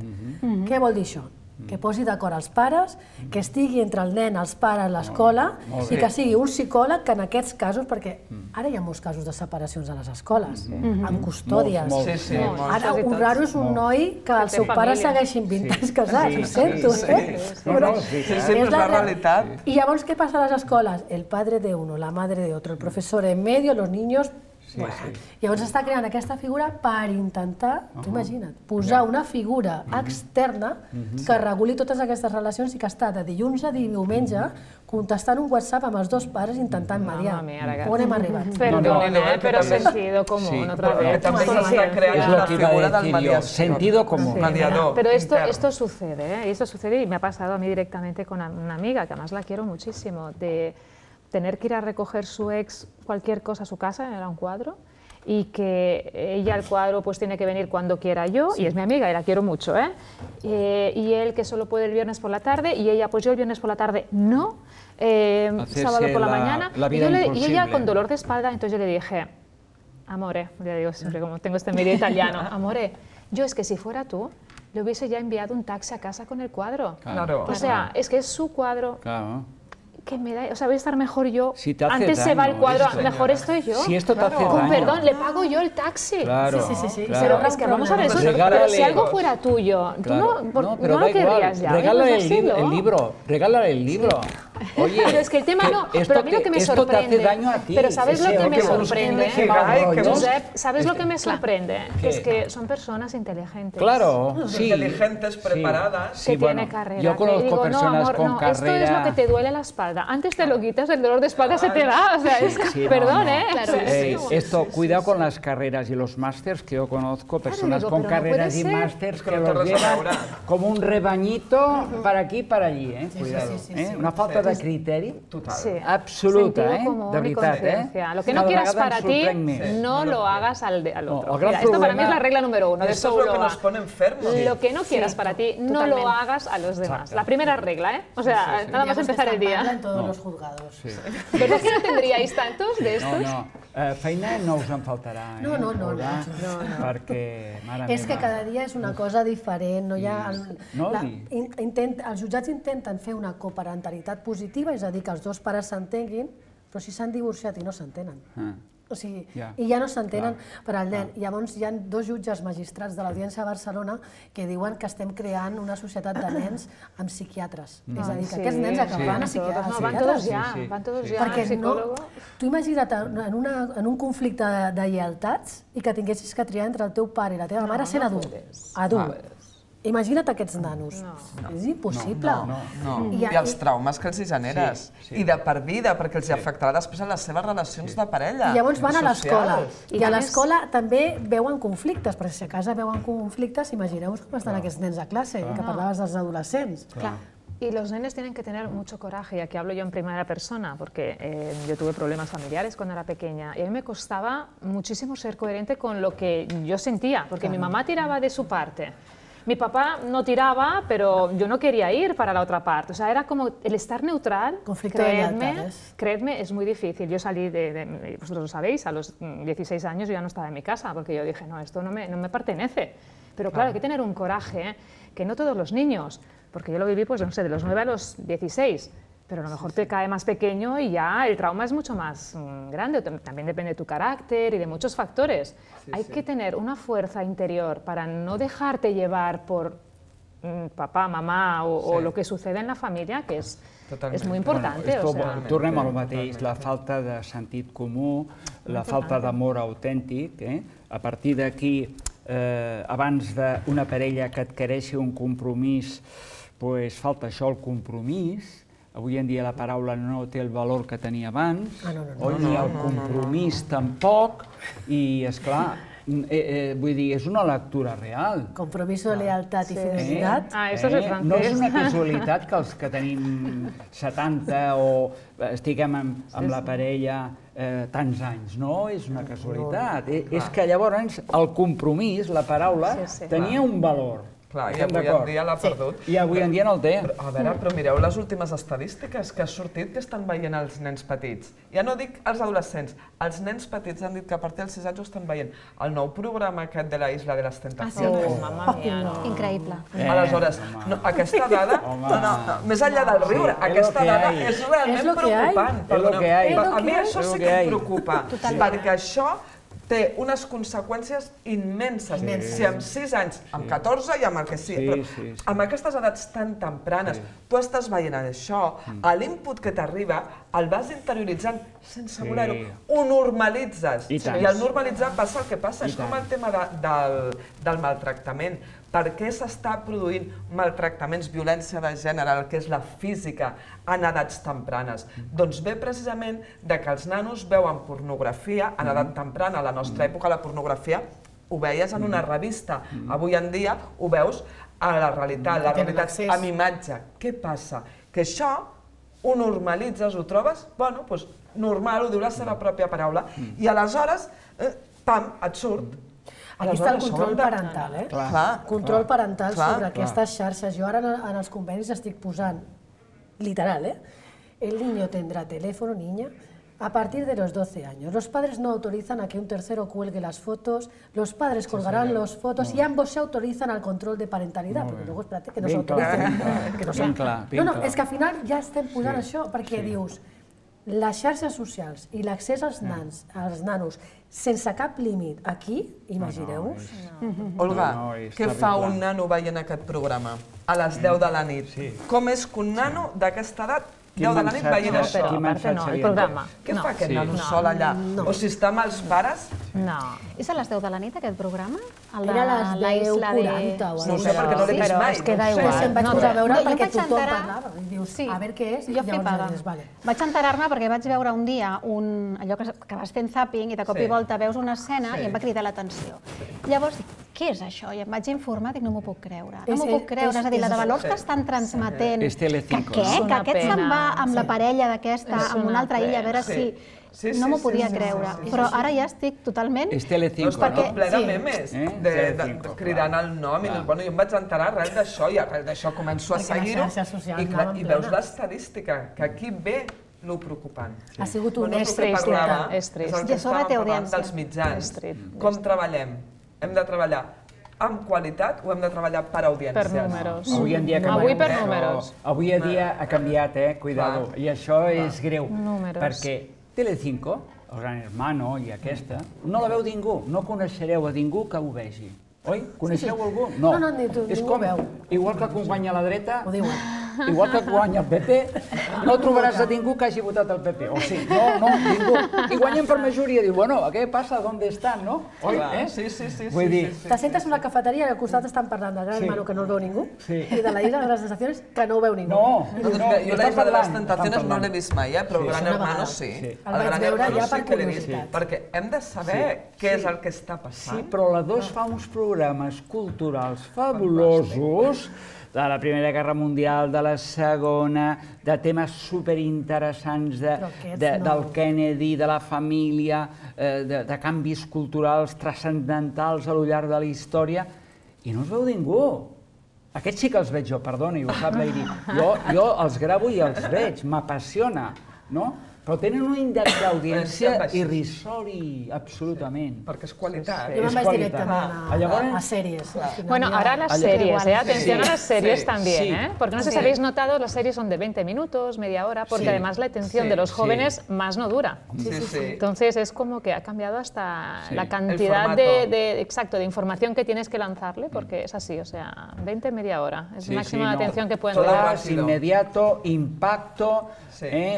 Què vol dir això? Que posi d'acord els pares, que estigui entre el nen, els pares, l'escola, i que sigui un psicòleg que en aquests casos, perquè ara hi ha molts casos de separacions a les escoles, amb custòdies. Ara, un raro és un noi que el seu pare segueixin vint anys casats, ho sento, eh? És la realitat. I llavors què passa a les escoles? El padre de uno, la madre de otro, el professor en medio, los niños... Llavors està creant aquesta figura per intentar, tu imagina't, posar una figura externa que reguli totes aquestes relacions i que està de dilluns a diumenge contestant un WhatsApp amb els dos pares intentant mediar. On hem arribat? Perdón, però sentido común, otra vez. També s'està creant la figura del mediador. Sentido común. Pero esto, esto sucede, ¿eh? Esto sucede y me ha pasado a mí directamente con una amiga, que además la quiero muchísimo, de tener que ir a recoger su ex cualquier cosa a su casa, era un cuadro, y que ella el cuadro pues tiene que venir cuando quiera yo, y es mi amiga y la quiero mucho, ¿eh? Eh, y él que solo puede el viernes por la tarde, y ella pues yo el viernes por la tarde no, eh, sábado por la, la mañana, la y, yo le, y ella con dolor de espalda, entonces yo le dije, amore, ya digo siempre como tengo este medio italiano, amore, yo es que si fuera tú, le hubiese ya enviado un taxi a casa con el cuadro. Claro. O sea, es que es su cuadro. Claro. Que me da, o sea, voy a estar mejor yo. Si te hace Antes daño, se va el cuadro, esto. mejor estoy yo. Si esto te hace Con daño. perdón, le pago yo el taxi. Claro, Sí, sí, sí, sí. claro. Pero es que vamos a ver, eso, Regálale- pero si algo fuera tuyo, tú Claro. no, por- No, pero no da lo querrías igual. ya. Regálale Oye, el, pues li- hazlo. el libro, regálale el libro. Oye, Pero es que el tema no, esto pero a mí lo te- que me esto sorprende, te hace daño a ti. pero ¿sabes ese lo que me odio. sorprende? que hay, que Josep, ¿sabes lo que me Claro. sorprende? ¿Qué? Es que son personas inteligentes. Claro, sí. Inteligentes, preparadas. Sí, que bueno, tiene carrera. yo que conozco digo, personas no, amor, con no, carrera. esto es lo que te duele la espalda. Antes te lo quitas, el dolor de espalda se te da. O sea, es que, Sí, no, perdón, no. ¿eh? Claro. Sí, Eh, sí. esto, cuidado con las carreras y los másters, que yo conozco personas digo, con pero no carreras puede y ser. másters que Que no té los res a llevan veure. como un rebañito para aquí y para allí, eh? Cuidado. sí, sí, eh? sí. Una falta de criteri Total. Sí. absoluta, Sentido eh? común De y veritat, eh? conciencia. Lo que no Cada quieras vegada para em ti, sorprèn més. no lo hagas al, de, al No, otro. el gran Mira, esto para mí problema- es la regla número uno de Esto es lo que Souloa. nos pone enfermos. Lo que no quieras para ti, no lo hagas a los demás. La primera regla, ¿eh? O sea, nada más empezar el día. en todos los juzgados. ¿Verdad que no tendríais tantos de No, estos? no, eh, feina no us en faltarà, eh? No, no, no, Olga? no, no. Perquè, mare És que meva. cada dia és una cosa diferent, no hi ha... El, No, la, i- in, intent, els jutjats intenten fer una coparentalitat positiva, és a dir, que els dos pares s'entenguin, però si s'han divorciat i no s'entenen. Ah. O sigui, Ja. i ja no s'entenen per al nen. Llavors hi ha dos jutges magistrats de l'Audiència de Barcelona que diuen que estem creant una societat de nens amb psiquiatres. És a dir, que Sí, aquests nens acabaran a sí. psiqui- a No, van todos psiquiatres. ya, Sí, sí. van todos ya Perquè al no, psicólogo. tu imagina't en, una, en un conflicte de, de lleialtats i que tinguessis que triar entre el teu pare i la teva mare sent adult. Adult. Imagina't aquests nanos. És impossible. No, i els traumes que els hi generes. I de per vida, perquè els hi afectarà després a les seves relacions de parella. I llavors van a l'escola. I a l'escola també veuen conflictes, perquè si a casa veuen conflictes, imagineu-vos com estan aquests nens a classe, que parlaves dels adolescents. Y los nenes tienen que tener mucho coraje, y aquí hablo yo en primera persona, porque eh, yo tuve problemas familiares cuando era pequeña, y a mí me costaba muchísimo ser coherente con lo que yo sentía, porque mi mamá tiraba de su parte. Mi papá no tiraba, pero yo no quería ir para la otra parte. O sea, era como el estar neutral, creedme, creedme, es muy difícil. Yo salí de, de, vosotros lo sabéis, a los dieciséis años yo ya no estaba en mi casa, porque yo dije, no, esto no me, no me pertenece. Pero claro, hay que tener un coraje, que no todos los niños, porque yo lo viví, pues no sé, de los nueve a los dieciséis, pero a lo mejor te cae más pequeño y ya el trauma es mucho más mmm, grande. También depende de tu carácter y de muchos factores. Sí, Hay sí. que tener una fuerza interior para no dejarte llevar por mmm, papá, mamá o, sí. o lo que sucede en la familia, que es, es muy importante. Bueno, o sea, tornem al mateix, la falta de sentit comú, la falta d'amor autèntic. Eh? A partir d'aquí, eh, abans d'una parella que adquireixi un compromís, pues, falta això, el compromís. Avui en dia la paraula no té el valor que tenia abans, ah, no, no, no. o ni el compromís tampoc, i, esclar, eh, eh, vull dir, és una lectura real. Compromiso, lealtat i fidelitat. Ah, això és el francès. No és una casualitat que els que tenim setanta o estiguem amb la parella tants anys, no? És una casualitat. És que llavors el compromís, la paraula, tenia un valor. Clar, i avui en dia l'ha perdut. I avui en dia no el té. A veure, però mireu les últimes estadístiques que ha sortit que estan veient els nens petits. Ja no dic els adolescents, els nens petits han dit que a partir dels sis anys ho estan veient. El nou programa aquest de la Isla de les Tentacions. Oh, mamma mia, no. Increïble. Aleshores, aquesta dada, més enllà del riure, aquesta dada és realment preocupant. A mi això sí que em preocupa, perquè això té unes conseqüències immenses. Si amb sis anys, amb catorze i amb el que sigui, però amb aquestes edats tan tempranes, tu estàs veient això, l'input que t'arriba el vas interioritzant sense voler-ho, ho normalitzes. I al normalitzar passa el que passa, és com el tema del maltractament. Per què s'està produint maltractaments, violència de gènere, el que és la física, en edats tempranes? Doncs ve precisament que els nanos veuen pornografia en edat temprana. A la nostra època la pornografia ho veies en una revista. Avui en dia ho veus a la realitat, la realitat amb imatge. Què passa? Que això ho normalitzes, ho trobes, bueno, doncs normal, ho diu la seva pròpia paraula, i aleshores, pam, et surt. Aquí està el control parental, eh? Control parental sobre aquestes xarxes. Jo ara en els convenis estic posant, literal, eh? El niño tendrá teléfono, niña, a partir de los doce años. Los padres no autorizan a que un tercero cuelgue las fotos, los padres colgarán las fotos y ambos se autorizan al control de parentalidad, porque luego, espérate, que no s'autoritzen. Ben clar, ben clar. No, no, és que al final ja estem posant això, perquè dius, les xarxes socials i l'accés als nans, als nanos, sense cap límit, aquí, imagineu-vos. Olga, què fa un nano veient aquest programa a les deu de la nit? Com és que un nano d'aquesta edat, deu de la nit, veient això? Però, a part no, el programa. Què fa aquest nano sol allà? O si està amb els pares? No. És a les deu de la nit, aquest programa? Era a les deu quaranta o no sé, perquè no l'he vist mai. Es queda igual. Em vaig posar a veure perquè tothom parlava. I dius, a veure què és? Jo flipava. Vaig enterar-me perquè vaig veure un dia allò que vas fent zapping i de cop i volta veus una escena i em va cridar l'atenció. Llavors dic, què és això? I em vaig informar, dic, no m'ho puc creure. No m'ho puc creure, és a dir, la de valors que estan transmetent. És Telecinco. Que què? Que aquest se'n va amb la parella d'aquesta, amb una altra illa, a veure si... No m'ho podia creure, però ara ja estic totalment... És Telecinco, no? Perquè ple de memes, cridant el nom, i jo em vaig enterar res d'això, i arrel d'això començo a seguir-ho, i veus l'estadística, que aquí ve lo preocupant. Ha sigut un estrès, és el que estàvem parlant dels mitjans. Com treballem? Hem de treballar amb qualitat o hem de treballar per audiències? Per números. Avui en dia Avui per números. Avui en dia ha canviat, eh? Cuidado. I això és greu. Perquè Telecinco, el Gran Hermano i aquesta, no la veu ningú. No coneixereu a ningú que ho vegi. Oi? Coneixeu algú? No. No, no, ningú ho veu. Igual que quan guanya la dreta, igual que guanya el P P, no trobaràs a ningú que hagi votat el P P. O sigui, no, no, ningú. I guanyen per majoria. Diu, bueno, què passa? ¿Dónde están? No? Oi? Sí, sí, sí. Vull dir... Te sentes en una cafeteria i al costat estan parlant del Gran Hermano, que no el veu ningú, i de la Isla de les Tentaciones, que no ho veu ningú. No, no, jo la Isla de les Tentaciones no l'he vist mai, però el Gran Hermano sí. El vaig veure ja per curiositat. Perquè hem de saber què és el que està passant. Sí, però la dos fa uns programes culturals fabulosos de la Primera Guerra Mundial, de la Segona, de temes superinteressants del Kennedy, de la família, de canvis culturals transcendentals a lo llarg de la història, i no els veu ningú. Aquests sí que els veig jo, perdoni, ho sap l'Airi. Jo els gravo i els veig, m'apassiona, no? Però tenen un índex d'audiència irrisori, absolutament. Perquè és qualitat. Jo me'n vaig directament a sèries. Bueno, ahora las series, ¿eh? Atención a las series también, ¿eh? Porque no sé si habéis notado, las series son de veinte minutos, media hora, porque además la atención de los jóvenes más no dura. Entonces es como que ha cambiado hasta la cantidad de, exacto, de información que tienes que lanzarle, porque es así, o sea, veinte, media hora. Es el máximo de atención que pueden dar. Inmediato, impacto,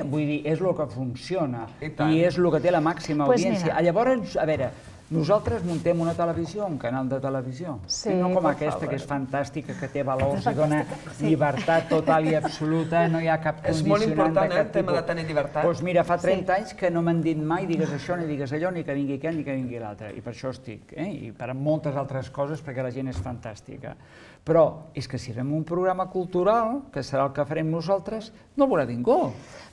vull dir, és el que funciona i és el que té la màxima audiència. Llavors, a veure, nosaltres muntem una televisió, un canal de televisió, no com aquesta, que és fantàstica, que té valors i dona llibertat total i absoluta, no hi ha cap condicionant. És molt important el tema de tenir llibertat. Doncs mira, fa trenta anys que no m'han dit mai digues això, ni digues allò, ni que vingui aquest, ni que vingui l'altre. I per això estic, i per moltes altres coses, perquè la gent és fantàstica. Però és que si fem un programa cultural, que serà el que farem nosaltres, no el veurà ningú.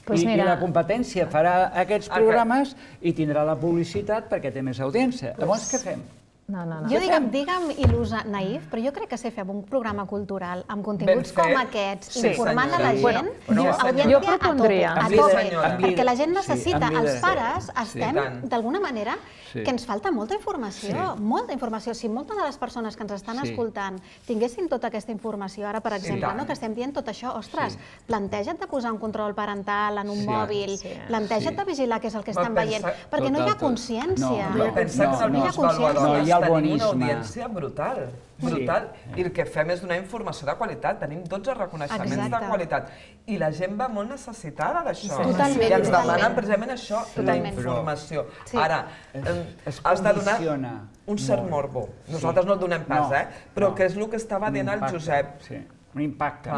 I la competència farà aquests programes i tindrà la publicitat perquè té més audiència. Llavors, què fem? No, no, no. Jo digue'm, digue'm il·lusa naïf, però jo crec que si fem un programa cultural amb continguts com aquests, informant a la gent, audiència a tope, perquè la gent necessita, els pares estem, d'alguna manera, que ens falta molta informació, molta informació. Si moltes de les persones que ens estan escoltant tinguessin tota aquesta informació, ara, per exemple, que estem dient tot això, ostres, planteja't de posar un control parental en un mòbil, planteja't de vigilar què és el que estan veient, perquè no hi ha consciència. No, pensa que els valors tenim una audiència brutal, brutal, i el que fem és donar informació de qualitat, tenim dotze reconeixements de qualitat, i la gent va molt necessitada d'això, i ens demanen precisament això, la informació. Ara, has de donar un cert morbo, nosaltres no el donem pas, però que és el que estava dient el Josep. Un impacte.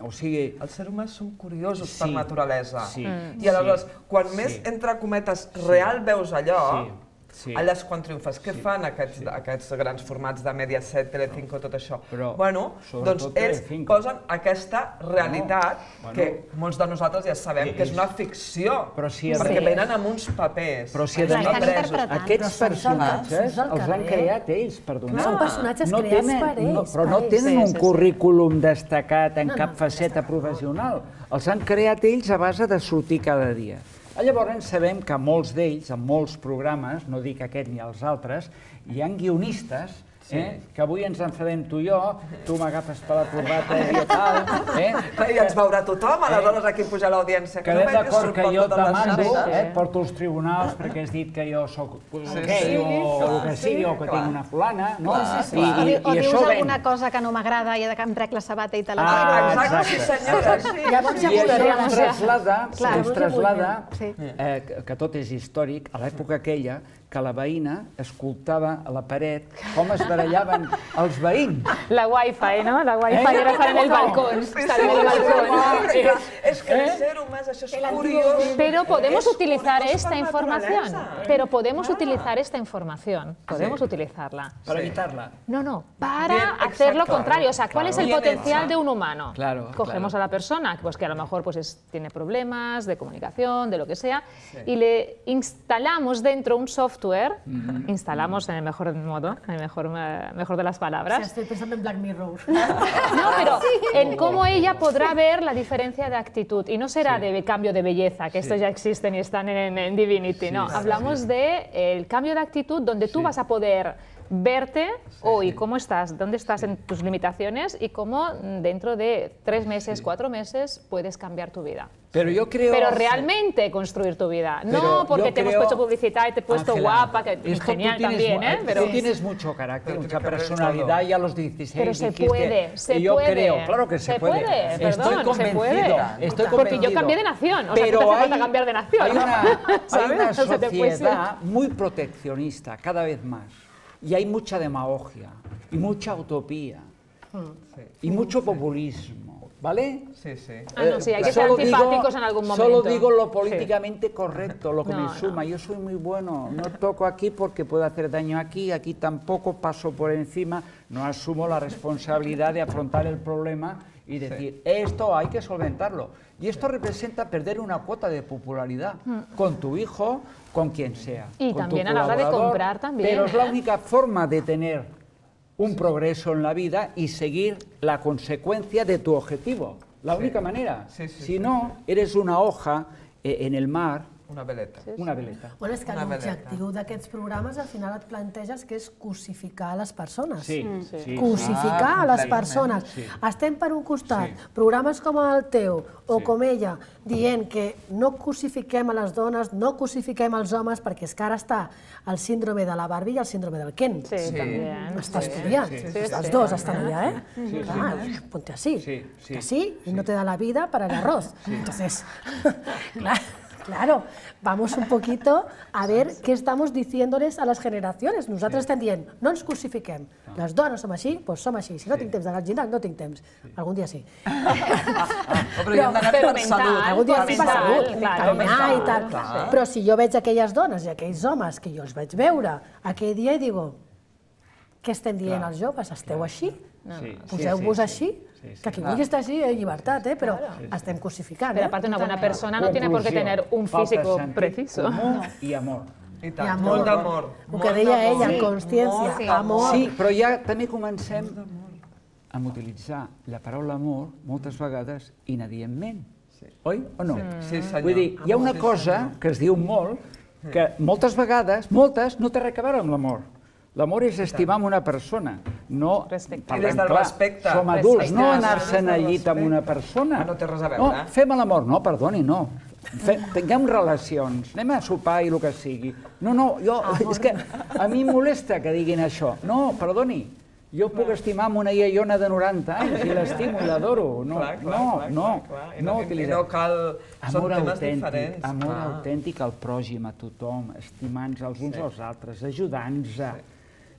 O sigui... Els serés humans són curiosos per naturalesa, i aleshores, quan més, entre cometes, real veus allò, allà és quan triomfes. Què fan aquests grans formats de Mediaset, Telecinco, tot això? Bueno, doncs ells posen aquesta realitat que molts de nosaltres ja sabem que és una ficció, perquè venen amb uns papers. Però si aquests personatges els han creat ells, perdoneu. Són personatges creats per ells. Però no tenen un currículum destacat en cap faceta professional. Els han creat ells a base de sortir cada dia. Llavors sabem que molts d'ells, en molts programes, no dic aquest ni els altres, hi ha guionistes que avui ens enfadem tu i jo, tu m'agafes per la corbata i tal... I ens veurà tothom, aleshores aquí puja l'audiència. Quedem d'acord que jo demando, porto als tribunals perquè has dit que jo soc gay o el que sigui, o que tinc una fulana, no? O dius alguna cosa que no m'agrada i que em trec la sabata i te la tiro. Exacte, sí senyora, sí. I això ens traslada, que tot és històric, a l'època aquella, que la veïna escoltava a la paret com es barallaven els veïns. La wifi, ¿no? La wifi era estar en el balcón. Estar en el balcón. Es que el ser humano, eso es curioso. Pero podemos utilizar esta información. Pero podemos utilizar esta información. Podemos utilizarla. ¿Para evitarla? No, no. Para hacer lo contrario. O sea, ¿cuál es el potencial de un humano? Cogemos a la persona, pues que a lo mejor tiene problemas de comunicación, de lo que sea, y le instalamos dentro un software. Instalamos en el mejor modo, en el mejor, mejor de las palabras. O sea, estoy pensando en Black Mirror. No, pero en cómo ella podrá ver la diferencia de actitud. Y no será sí. de cambio de belleza, que sí. estos ya existen y están en, en Divinity, sí, no. Sí, Hablamos sí. del de cambio de actitud donde tú sí. vas a poder verte hoy, cómo estás, dónde estás en tus limitaciones y cómo dentro de tres meses, cuatro meses puedes cambiar tu vida. Pero yo creo... Pero realmente construir tu vida, no porque te hemos puesto publicidad y te he puesto guapa, que genial también, ¿eh? Pero tú tienes mucho carácter, mucha personalidad y a los dieciséis... Pero se puede, se puede. Yo creo, claro que se puede. Estoy convencido, estoy convencido. Porque yo cambié de nación, o sea, que te hace falta cambiar de nación. Hay una sociedad muy proteccionista, cada vez más. Y hay mucha demagogia, y mucha utopía, y mucho populismo. ¿Vale? Sí, sí. Ah, no, sí, hay que ser antipáticos en algún momento. Solo digo lo políticamente correcto, lo que me suma. Yo soy muy bueno, no toco aquí porque puedo hacer daño aquí, aquí tampoco, paso por encima, no asumo la responsabilidad de afrontar el problema y decir, esto hay que solventarlo. Y esto representa perder una cuota de popularidad con tu hijo, con quien sea. Y también a la hora de comprar también. Pero es la única forma de tener un progreso en la vida y seguir la consecuencia de tu objetivo. La única sí. manera. Sí, sí, si sí, no, sí. eres una hoja eh, en el mar. Una veleta. Sí, sí. Una veleta. Bueno, és que l'objectiu d'aquests programes al final et planteges que és cosificar les persones. Sí, sí. sí. Cosificar ah, les persones. Sí. Estem per un costat, sí. programes com el teu o sí. com ella, dient que no cosifiquem a les dones, no cosifiquem els homes, perquè és que ara està el síndrome de la Barbie i el síndrome del Ken. Sí, sí. també. Està estudiant. Sí, sí, sí. Els dos estan allà, ¿eh? Sí, ah, sí. Ponte así. Sí, sí. Que sí, y sí. no te da la vida para el arroz. Sí. Entonces, claro. Claro, vamos un poquito a ver qué estamos diciéndoles a las generaciones. Nosaltres estem dient, no ens crucifiquem. Les dones som així, doncs som així. Si no tinc temps d'anar al gimnàs, no tinc temps. Algun dia sí. Però hi hem d'anar per salut. Algun dia sí per salut, caminar i tal. Però si jo veig aquelles dones i aquells homes que jo els vaig veure aquell dia i digo, què estem dient als joves? Esteu així? Poseu-vos així? Que aquí vulgui estar així en llibertat, eh? Però estem crucificant. Pero aparte una buena persona no tiene por qué tener un físico preciso. I amor. I tant, molt d'amor. El que deia ella, consciència, amor. Sí, però ja també comencem a utilitzar la paraula amor moltes vegades inadientment. Oi o no? Sí, senyor. Vull dir, hi ha una cosa que es diu molt, que moltes vegades, moltes, no té res a veure amb l'amor. L'amor és estimar una persona, no... I des del respecte. Som adults, no anar-se'n al llit amb una persona. No té res a veure. No, fem l'amor, no, perdoni, no. Tinguem relacions, anem a sopar i el que sigui. No, no, jo, és que a mi em molesta que diguin això. No, perdoni, jo puc estimar amb una iaiona de noranta anys i l'estimo i l'adoro. No, no, no. No no cal... Són temes diferents. Amor autèntic al pròxim, a tothom, estimant-nos els uns als altres, ajudant-nos.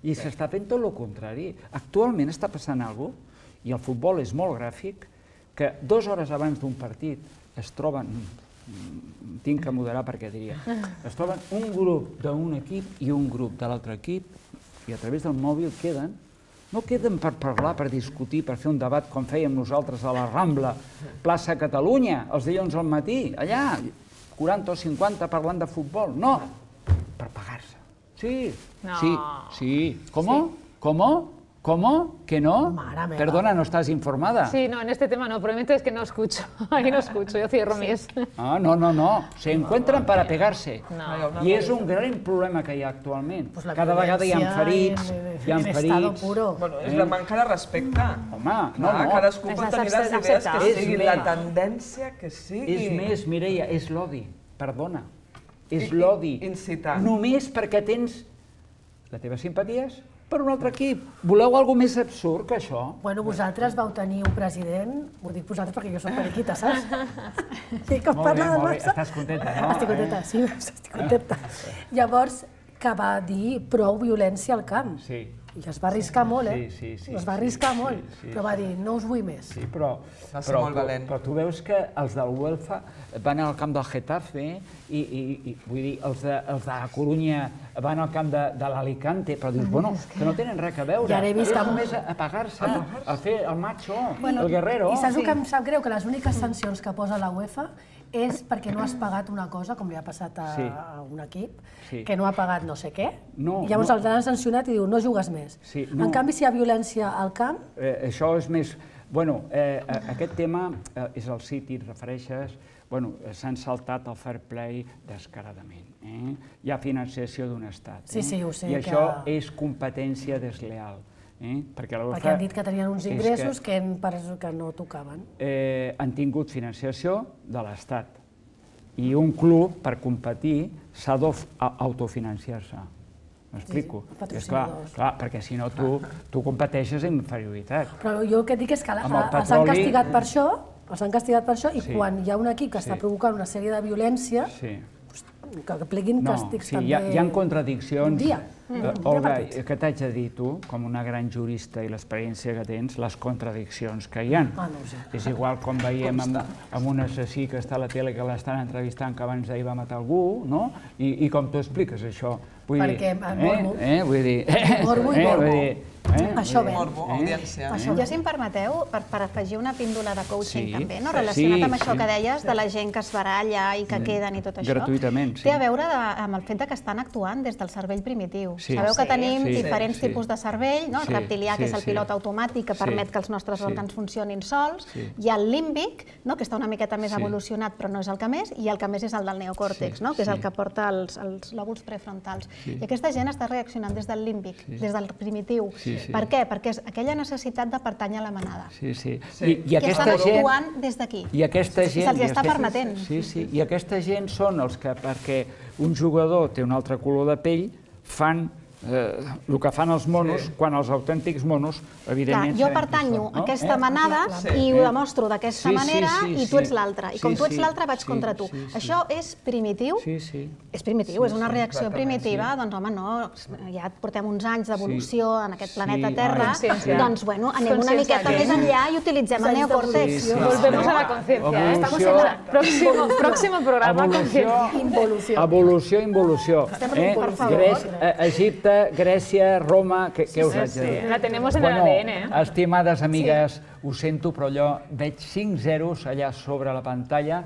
I s'està fent tot el contrari. Actualment està passant alguna cosa, i el futbol és molt gràfic, que dues hores abans d'un partit es troben, tinc que moderar perquè diria, es troben un grup d'un equip i un grup de l'altre equip, i a través del mòbil queden, no queden per parlar, per discutir, per fer un debat com fèiem nosaltres a la Rambla, plaça Catalunya, els dilluns al matí, allà, quaranta o cinquanta parlant de futbol, no, per pagar-se. Sí, no. sí, sí. ¿Cómo? Sí. ¿Cómo? ¿Cómo? ¿Que no? Perdona, no estás informada. Sí, no, en este tema no, probablemente es que no escucho. Ahí no escucho, yo cierro sí. mis... Ah, no, no, no. Se encuentran para pegarse. No. I és un gran problema que hi ha actualment. Pues cada vegada hi ha ferits, hi ha ferits... Bueno, és la manca de respecte. Home, no, no. Cadascú pot tenir les idees que sigui, la tendència que sigui. És més, Mireia, és l'odi. Perdona. És l'odi. Incitant. Només perquè tens les teves simpaties per un altre equip. Voleu alguna més absurd que això? Bueno, vosaltres vau tenir un president, ho dic vosaltres perquè jo soc periquita, saps? I que parla de massa. Estàs contenta, no? Estic contenta, sí, estic contenta. Llavors, que va dir prou violència al camp. Sí. I es va arriscar molt, eh? Sí, sí, sí. Es va arriscar molt, però va dir, no us vull més. Sí, però... Però tu veus que els del Huelva van al camp del Getafe i, vull dir, els de la Corunya van al camp de l'Alicante, però dius, bueno, que no tenen res a veure. Ja n'he vist que... només a pagar-se, a fer el macho, el guerrero. I saps el que em sap greu? Que les úniques sancions que posa la UEFA és perquè no has pagat una cosa, com li ha passat a un equip, que no ha pagat no sé què, i llavors els han sancionat i diu, no jugues més. En canvi, si hi ha violència al camp... Això és més... Bueno, aquest tema és el City, et refereixes... s'han saltat el fair play descaradament. Hi ha financiació d'un estat. Sí, sí, ho sé. I això és competència desleal. Perquè han dit que tenien uns ingressos que no tocaven. Han tingut financiació de l'Estat. I un club, per competir, s'ha d'autofinanciar-se. M'explico? Clar, perquè si no tu competeixes en inferioritat. Però jo el que dic és que els han castigat per això, els han castigat per això, i quan hi ha un equip que està provocant una sèrie de violència, que pleguin càstigs també... Hi ha contradiccions. Olga, què t'haig de dir tu, com una gran jurista i l'experiència que tens, les contradiccions que hi ha? És igual com veiem amb un assassí que està a la tele que l'estan entrevistant que abans d'ahir va matar algú, no? I com tu expliques això? Perquè morbo. Vull dir... Morbo i morbo. Això ve. Morbo, audiència. Jo, si em permeteu, per afegir una píndola de coaching també, relacionat amb això que deies de la gent que es baralla i que queden i tot això. Gratuïtament, sí. Té a veure amb el fet que estan actuant des del cervell primitiu. Sabeu que tenim diferents tipus de cervell, el reptilià, que és el pilot automàtic que permet que els nostres òrgans funcionin sols, hi ha el límbic, que està una miqueta més evolucionat però no és el que més, i el que més és el del neocòrtex, que és el que porta els lòbuls prefrontals. I aquesta gent està reaccionant des del límbic, des del primitiu. Per què? Perquè és aquella necessitat de pertànyer a la manada. Sí, sí. Que estan actuant des d'aquí. I aquesta gent... Se'ls està permetent. Sí, sí. I aquesta gent són els que, perquè un jugador té un altre color de pell, fan el que fan els monos, quan els autèntics monos, evidentment... Jo pertanyo a aquesta manada i ho demostro d'aquesta manera i tu ets l'altra. I com tu ets l'altra vaig contra tu. Això és primitiu? És primitiu, és una reacció primitiva. Doncs home, no, ja portem uns anys d'evolució en aquest planeta Terra, doncs bueno, anem una miqueta més enllà i utilitzem el neocòrtex. Volvemos a la conciencia. Próximo programa, conciencia. Evolució, involució. Per favor. Egipte, Grècia, Roma, què us haig de dir? La tenemos en el A D N. Estimades amigues, ho sento, però allò, veig cinc zeros allà sobre la pantalla,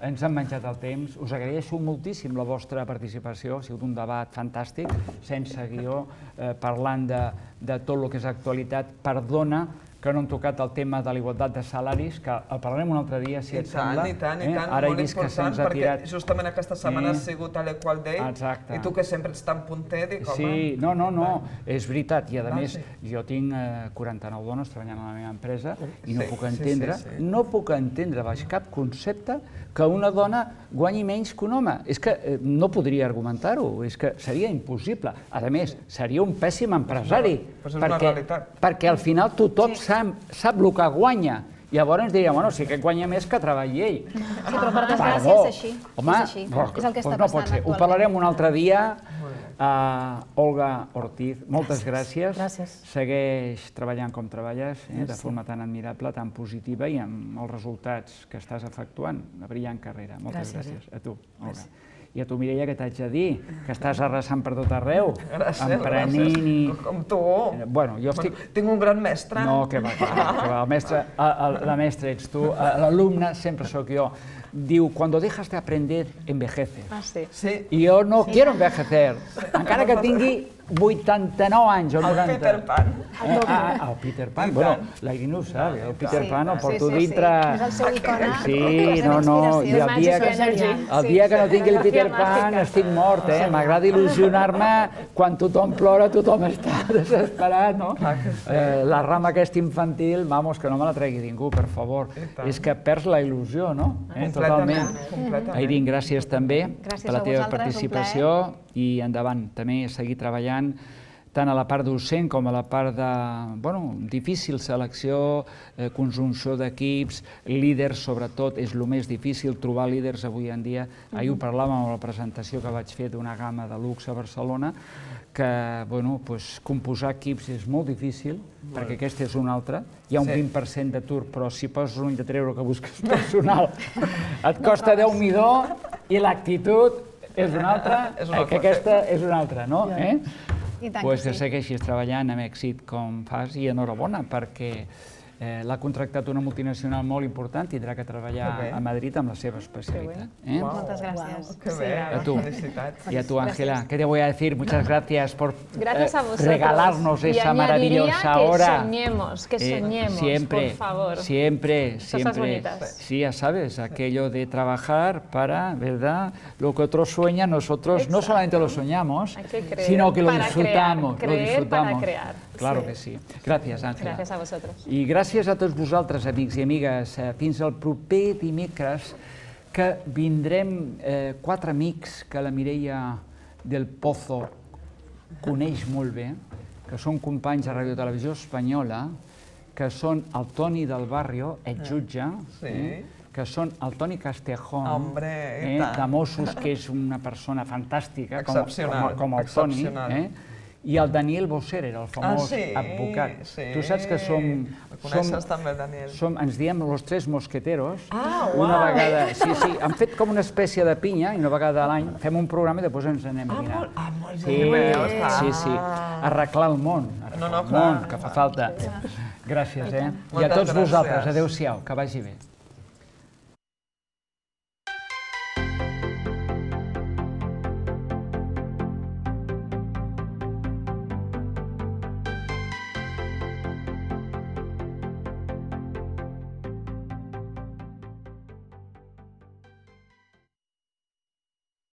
ens han menjat el temps, us agraeixo moltíssim la vostra participació, ha sigut un debat fantàstic, sense guió, parlant de tot el que és actualitat. Perdona que no hem tocat el tema de la igualtat de salaris, que el parlarem un altre dia, si et sembla. I tant, i tant, molt important, perquè justament aquesta setmana ha sigut l'Equal Day, i tu que sempre ets tan punter, dic, home... Sí, no, no, no, és veritat, i a més, jo tinc quaranta-nou dones treballant a la meva empresa i no puc entendre, no puc entendre baix cap concepte que una dona guanyi menys que un home. És que no podria argumentar-ho, és que seria impossible. A més, seria un pèssim empresari, perquè al final tothom sap el que guanya. Llavors ens diria, bueno, sí que guanya més que treballi ell. Sí, però per desgràcia és així. Home, doncs no pot ser. Ho parlarem un altre dia. Olga Ortiz, moltes gràcies. Gràcies. Segueix treballant com treballes, de forma tan admirable, tan positiva i amb els resultats que estàs efectuant. Una brillant carrera. Moltes gràcies. A tu, Olga. I a tu, Mireia, què t'haig de dir? Que estàs arrasant per tot arreu, emprenent i... Com tu. Bueno, jo estic... Tinc un gran mestre. No, que va, que va. El mestre, la mestra ets tu, l'alumne sempre sóc jo. Diu, cuando dejas de aprender, envejeces. Ah, sí. I jo no quiero envejecer, encara que tingui vuitanta-nou anys o noranta. El Peter Pan. Ah, el Peter Pan. Bueno, la Irene ho sap, el Peter Pan el porto dintre... És el seu icona. Sí, no, no, i el dia que no tingui el Peter Pan estic mort, eh? M'agrada il·lusionar-me quan tothom plora, tothom està desesperat, no? La rama aquesta infantil, vamos, que no me la tregui ningú, per favor. És que perds la il·lusió, no? Totalment. Irene, gràcies també per la teva participació i endavant, també seguir treballant tant a la part docent com a la part de, bueno, difícil selecció, conjunció d'equips, líders, sobretot, és el més difícil, trobar líders avui en dia. Ahir ho parlàvem amb la presentació que vaig fer d'una gamma de luxe a Barcelona, que, bueno, composar equips és molt difícil, perquè aquesta és una altra. Hi ha un vint per cent d'atur, però si poses un ull de treure que busques personal, et costa déu midó i l'actitud és una altra, que aquesta és una altra, no? Doncs que segueixis treballant amb èxit com fas i enhorabona, perquè L'ha contractat una multinacional molt important, tindrà que treballar a Madrid amb la seva especialitat. Muchas gracias. Qué bien, felicitats. Y a tu, Ángela, ¿qué te voy a decir? Muchas gracias por regalarnos esa maravillosa hora. Que soñemos, que soñemos, siempre, por favor. Siempre, Cosas siempre. bonitas. Sí, ya sabes, aquello de trabajar para, ¿verdad? Lo que otros sueñan, nosotros Exacto. no solamente lo soñamos, sino que lo disfrutamos. Crear, lo disfrutamos. Para crear. Claro sí. que sí. Gràcies, Àngela. Gràcies a vosaltres. I gràcies a tots vosaltres, amics i amigues. Fins al proper dimecres, que vindrem eh, quatre amics que la Mireia del Pozo coneix molt bé, que són companys a Radio Televisió Espanyola, que són el Toni del Barrio, exjutge, sí. eh, que són el Toni Castejón, Hombre, eh, de Mossos, que és una persona fantàstica, com, com, com el Toni, eh? I el Daniel Bocerer, el famós ah, sí, advocat. Sí. Tu saps que som... El coneixes som, també, Daniel. Som, ens diem los tres mosqueteros. Ah, una uau! Vegada, sí, sí, han fet com una espècie de pinya, i una vegada a l'any fem un programa i després ens anem a dinar. Ah, molt, ah, molt sí, bé. Sí, sí, arreglar el món, arreglar no, no, el món, que fa falta. Gràcies, eh? I a tots vosaltres, adeu-siau, que vagi bé.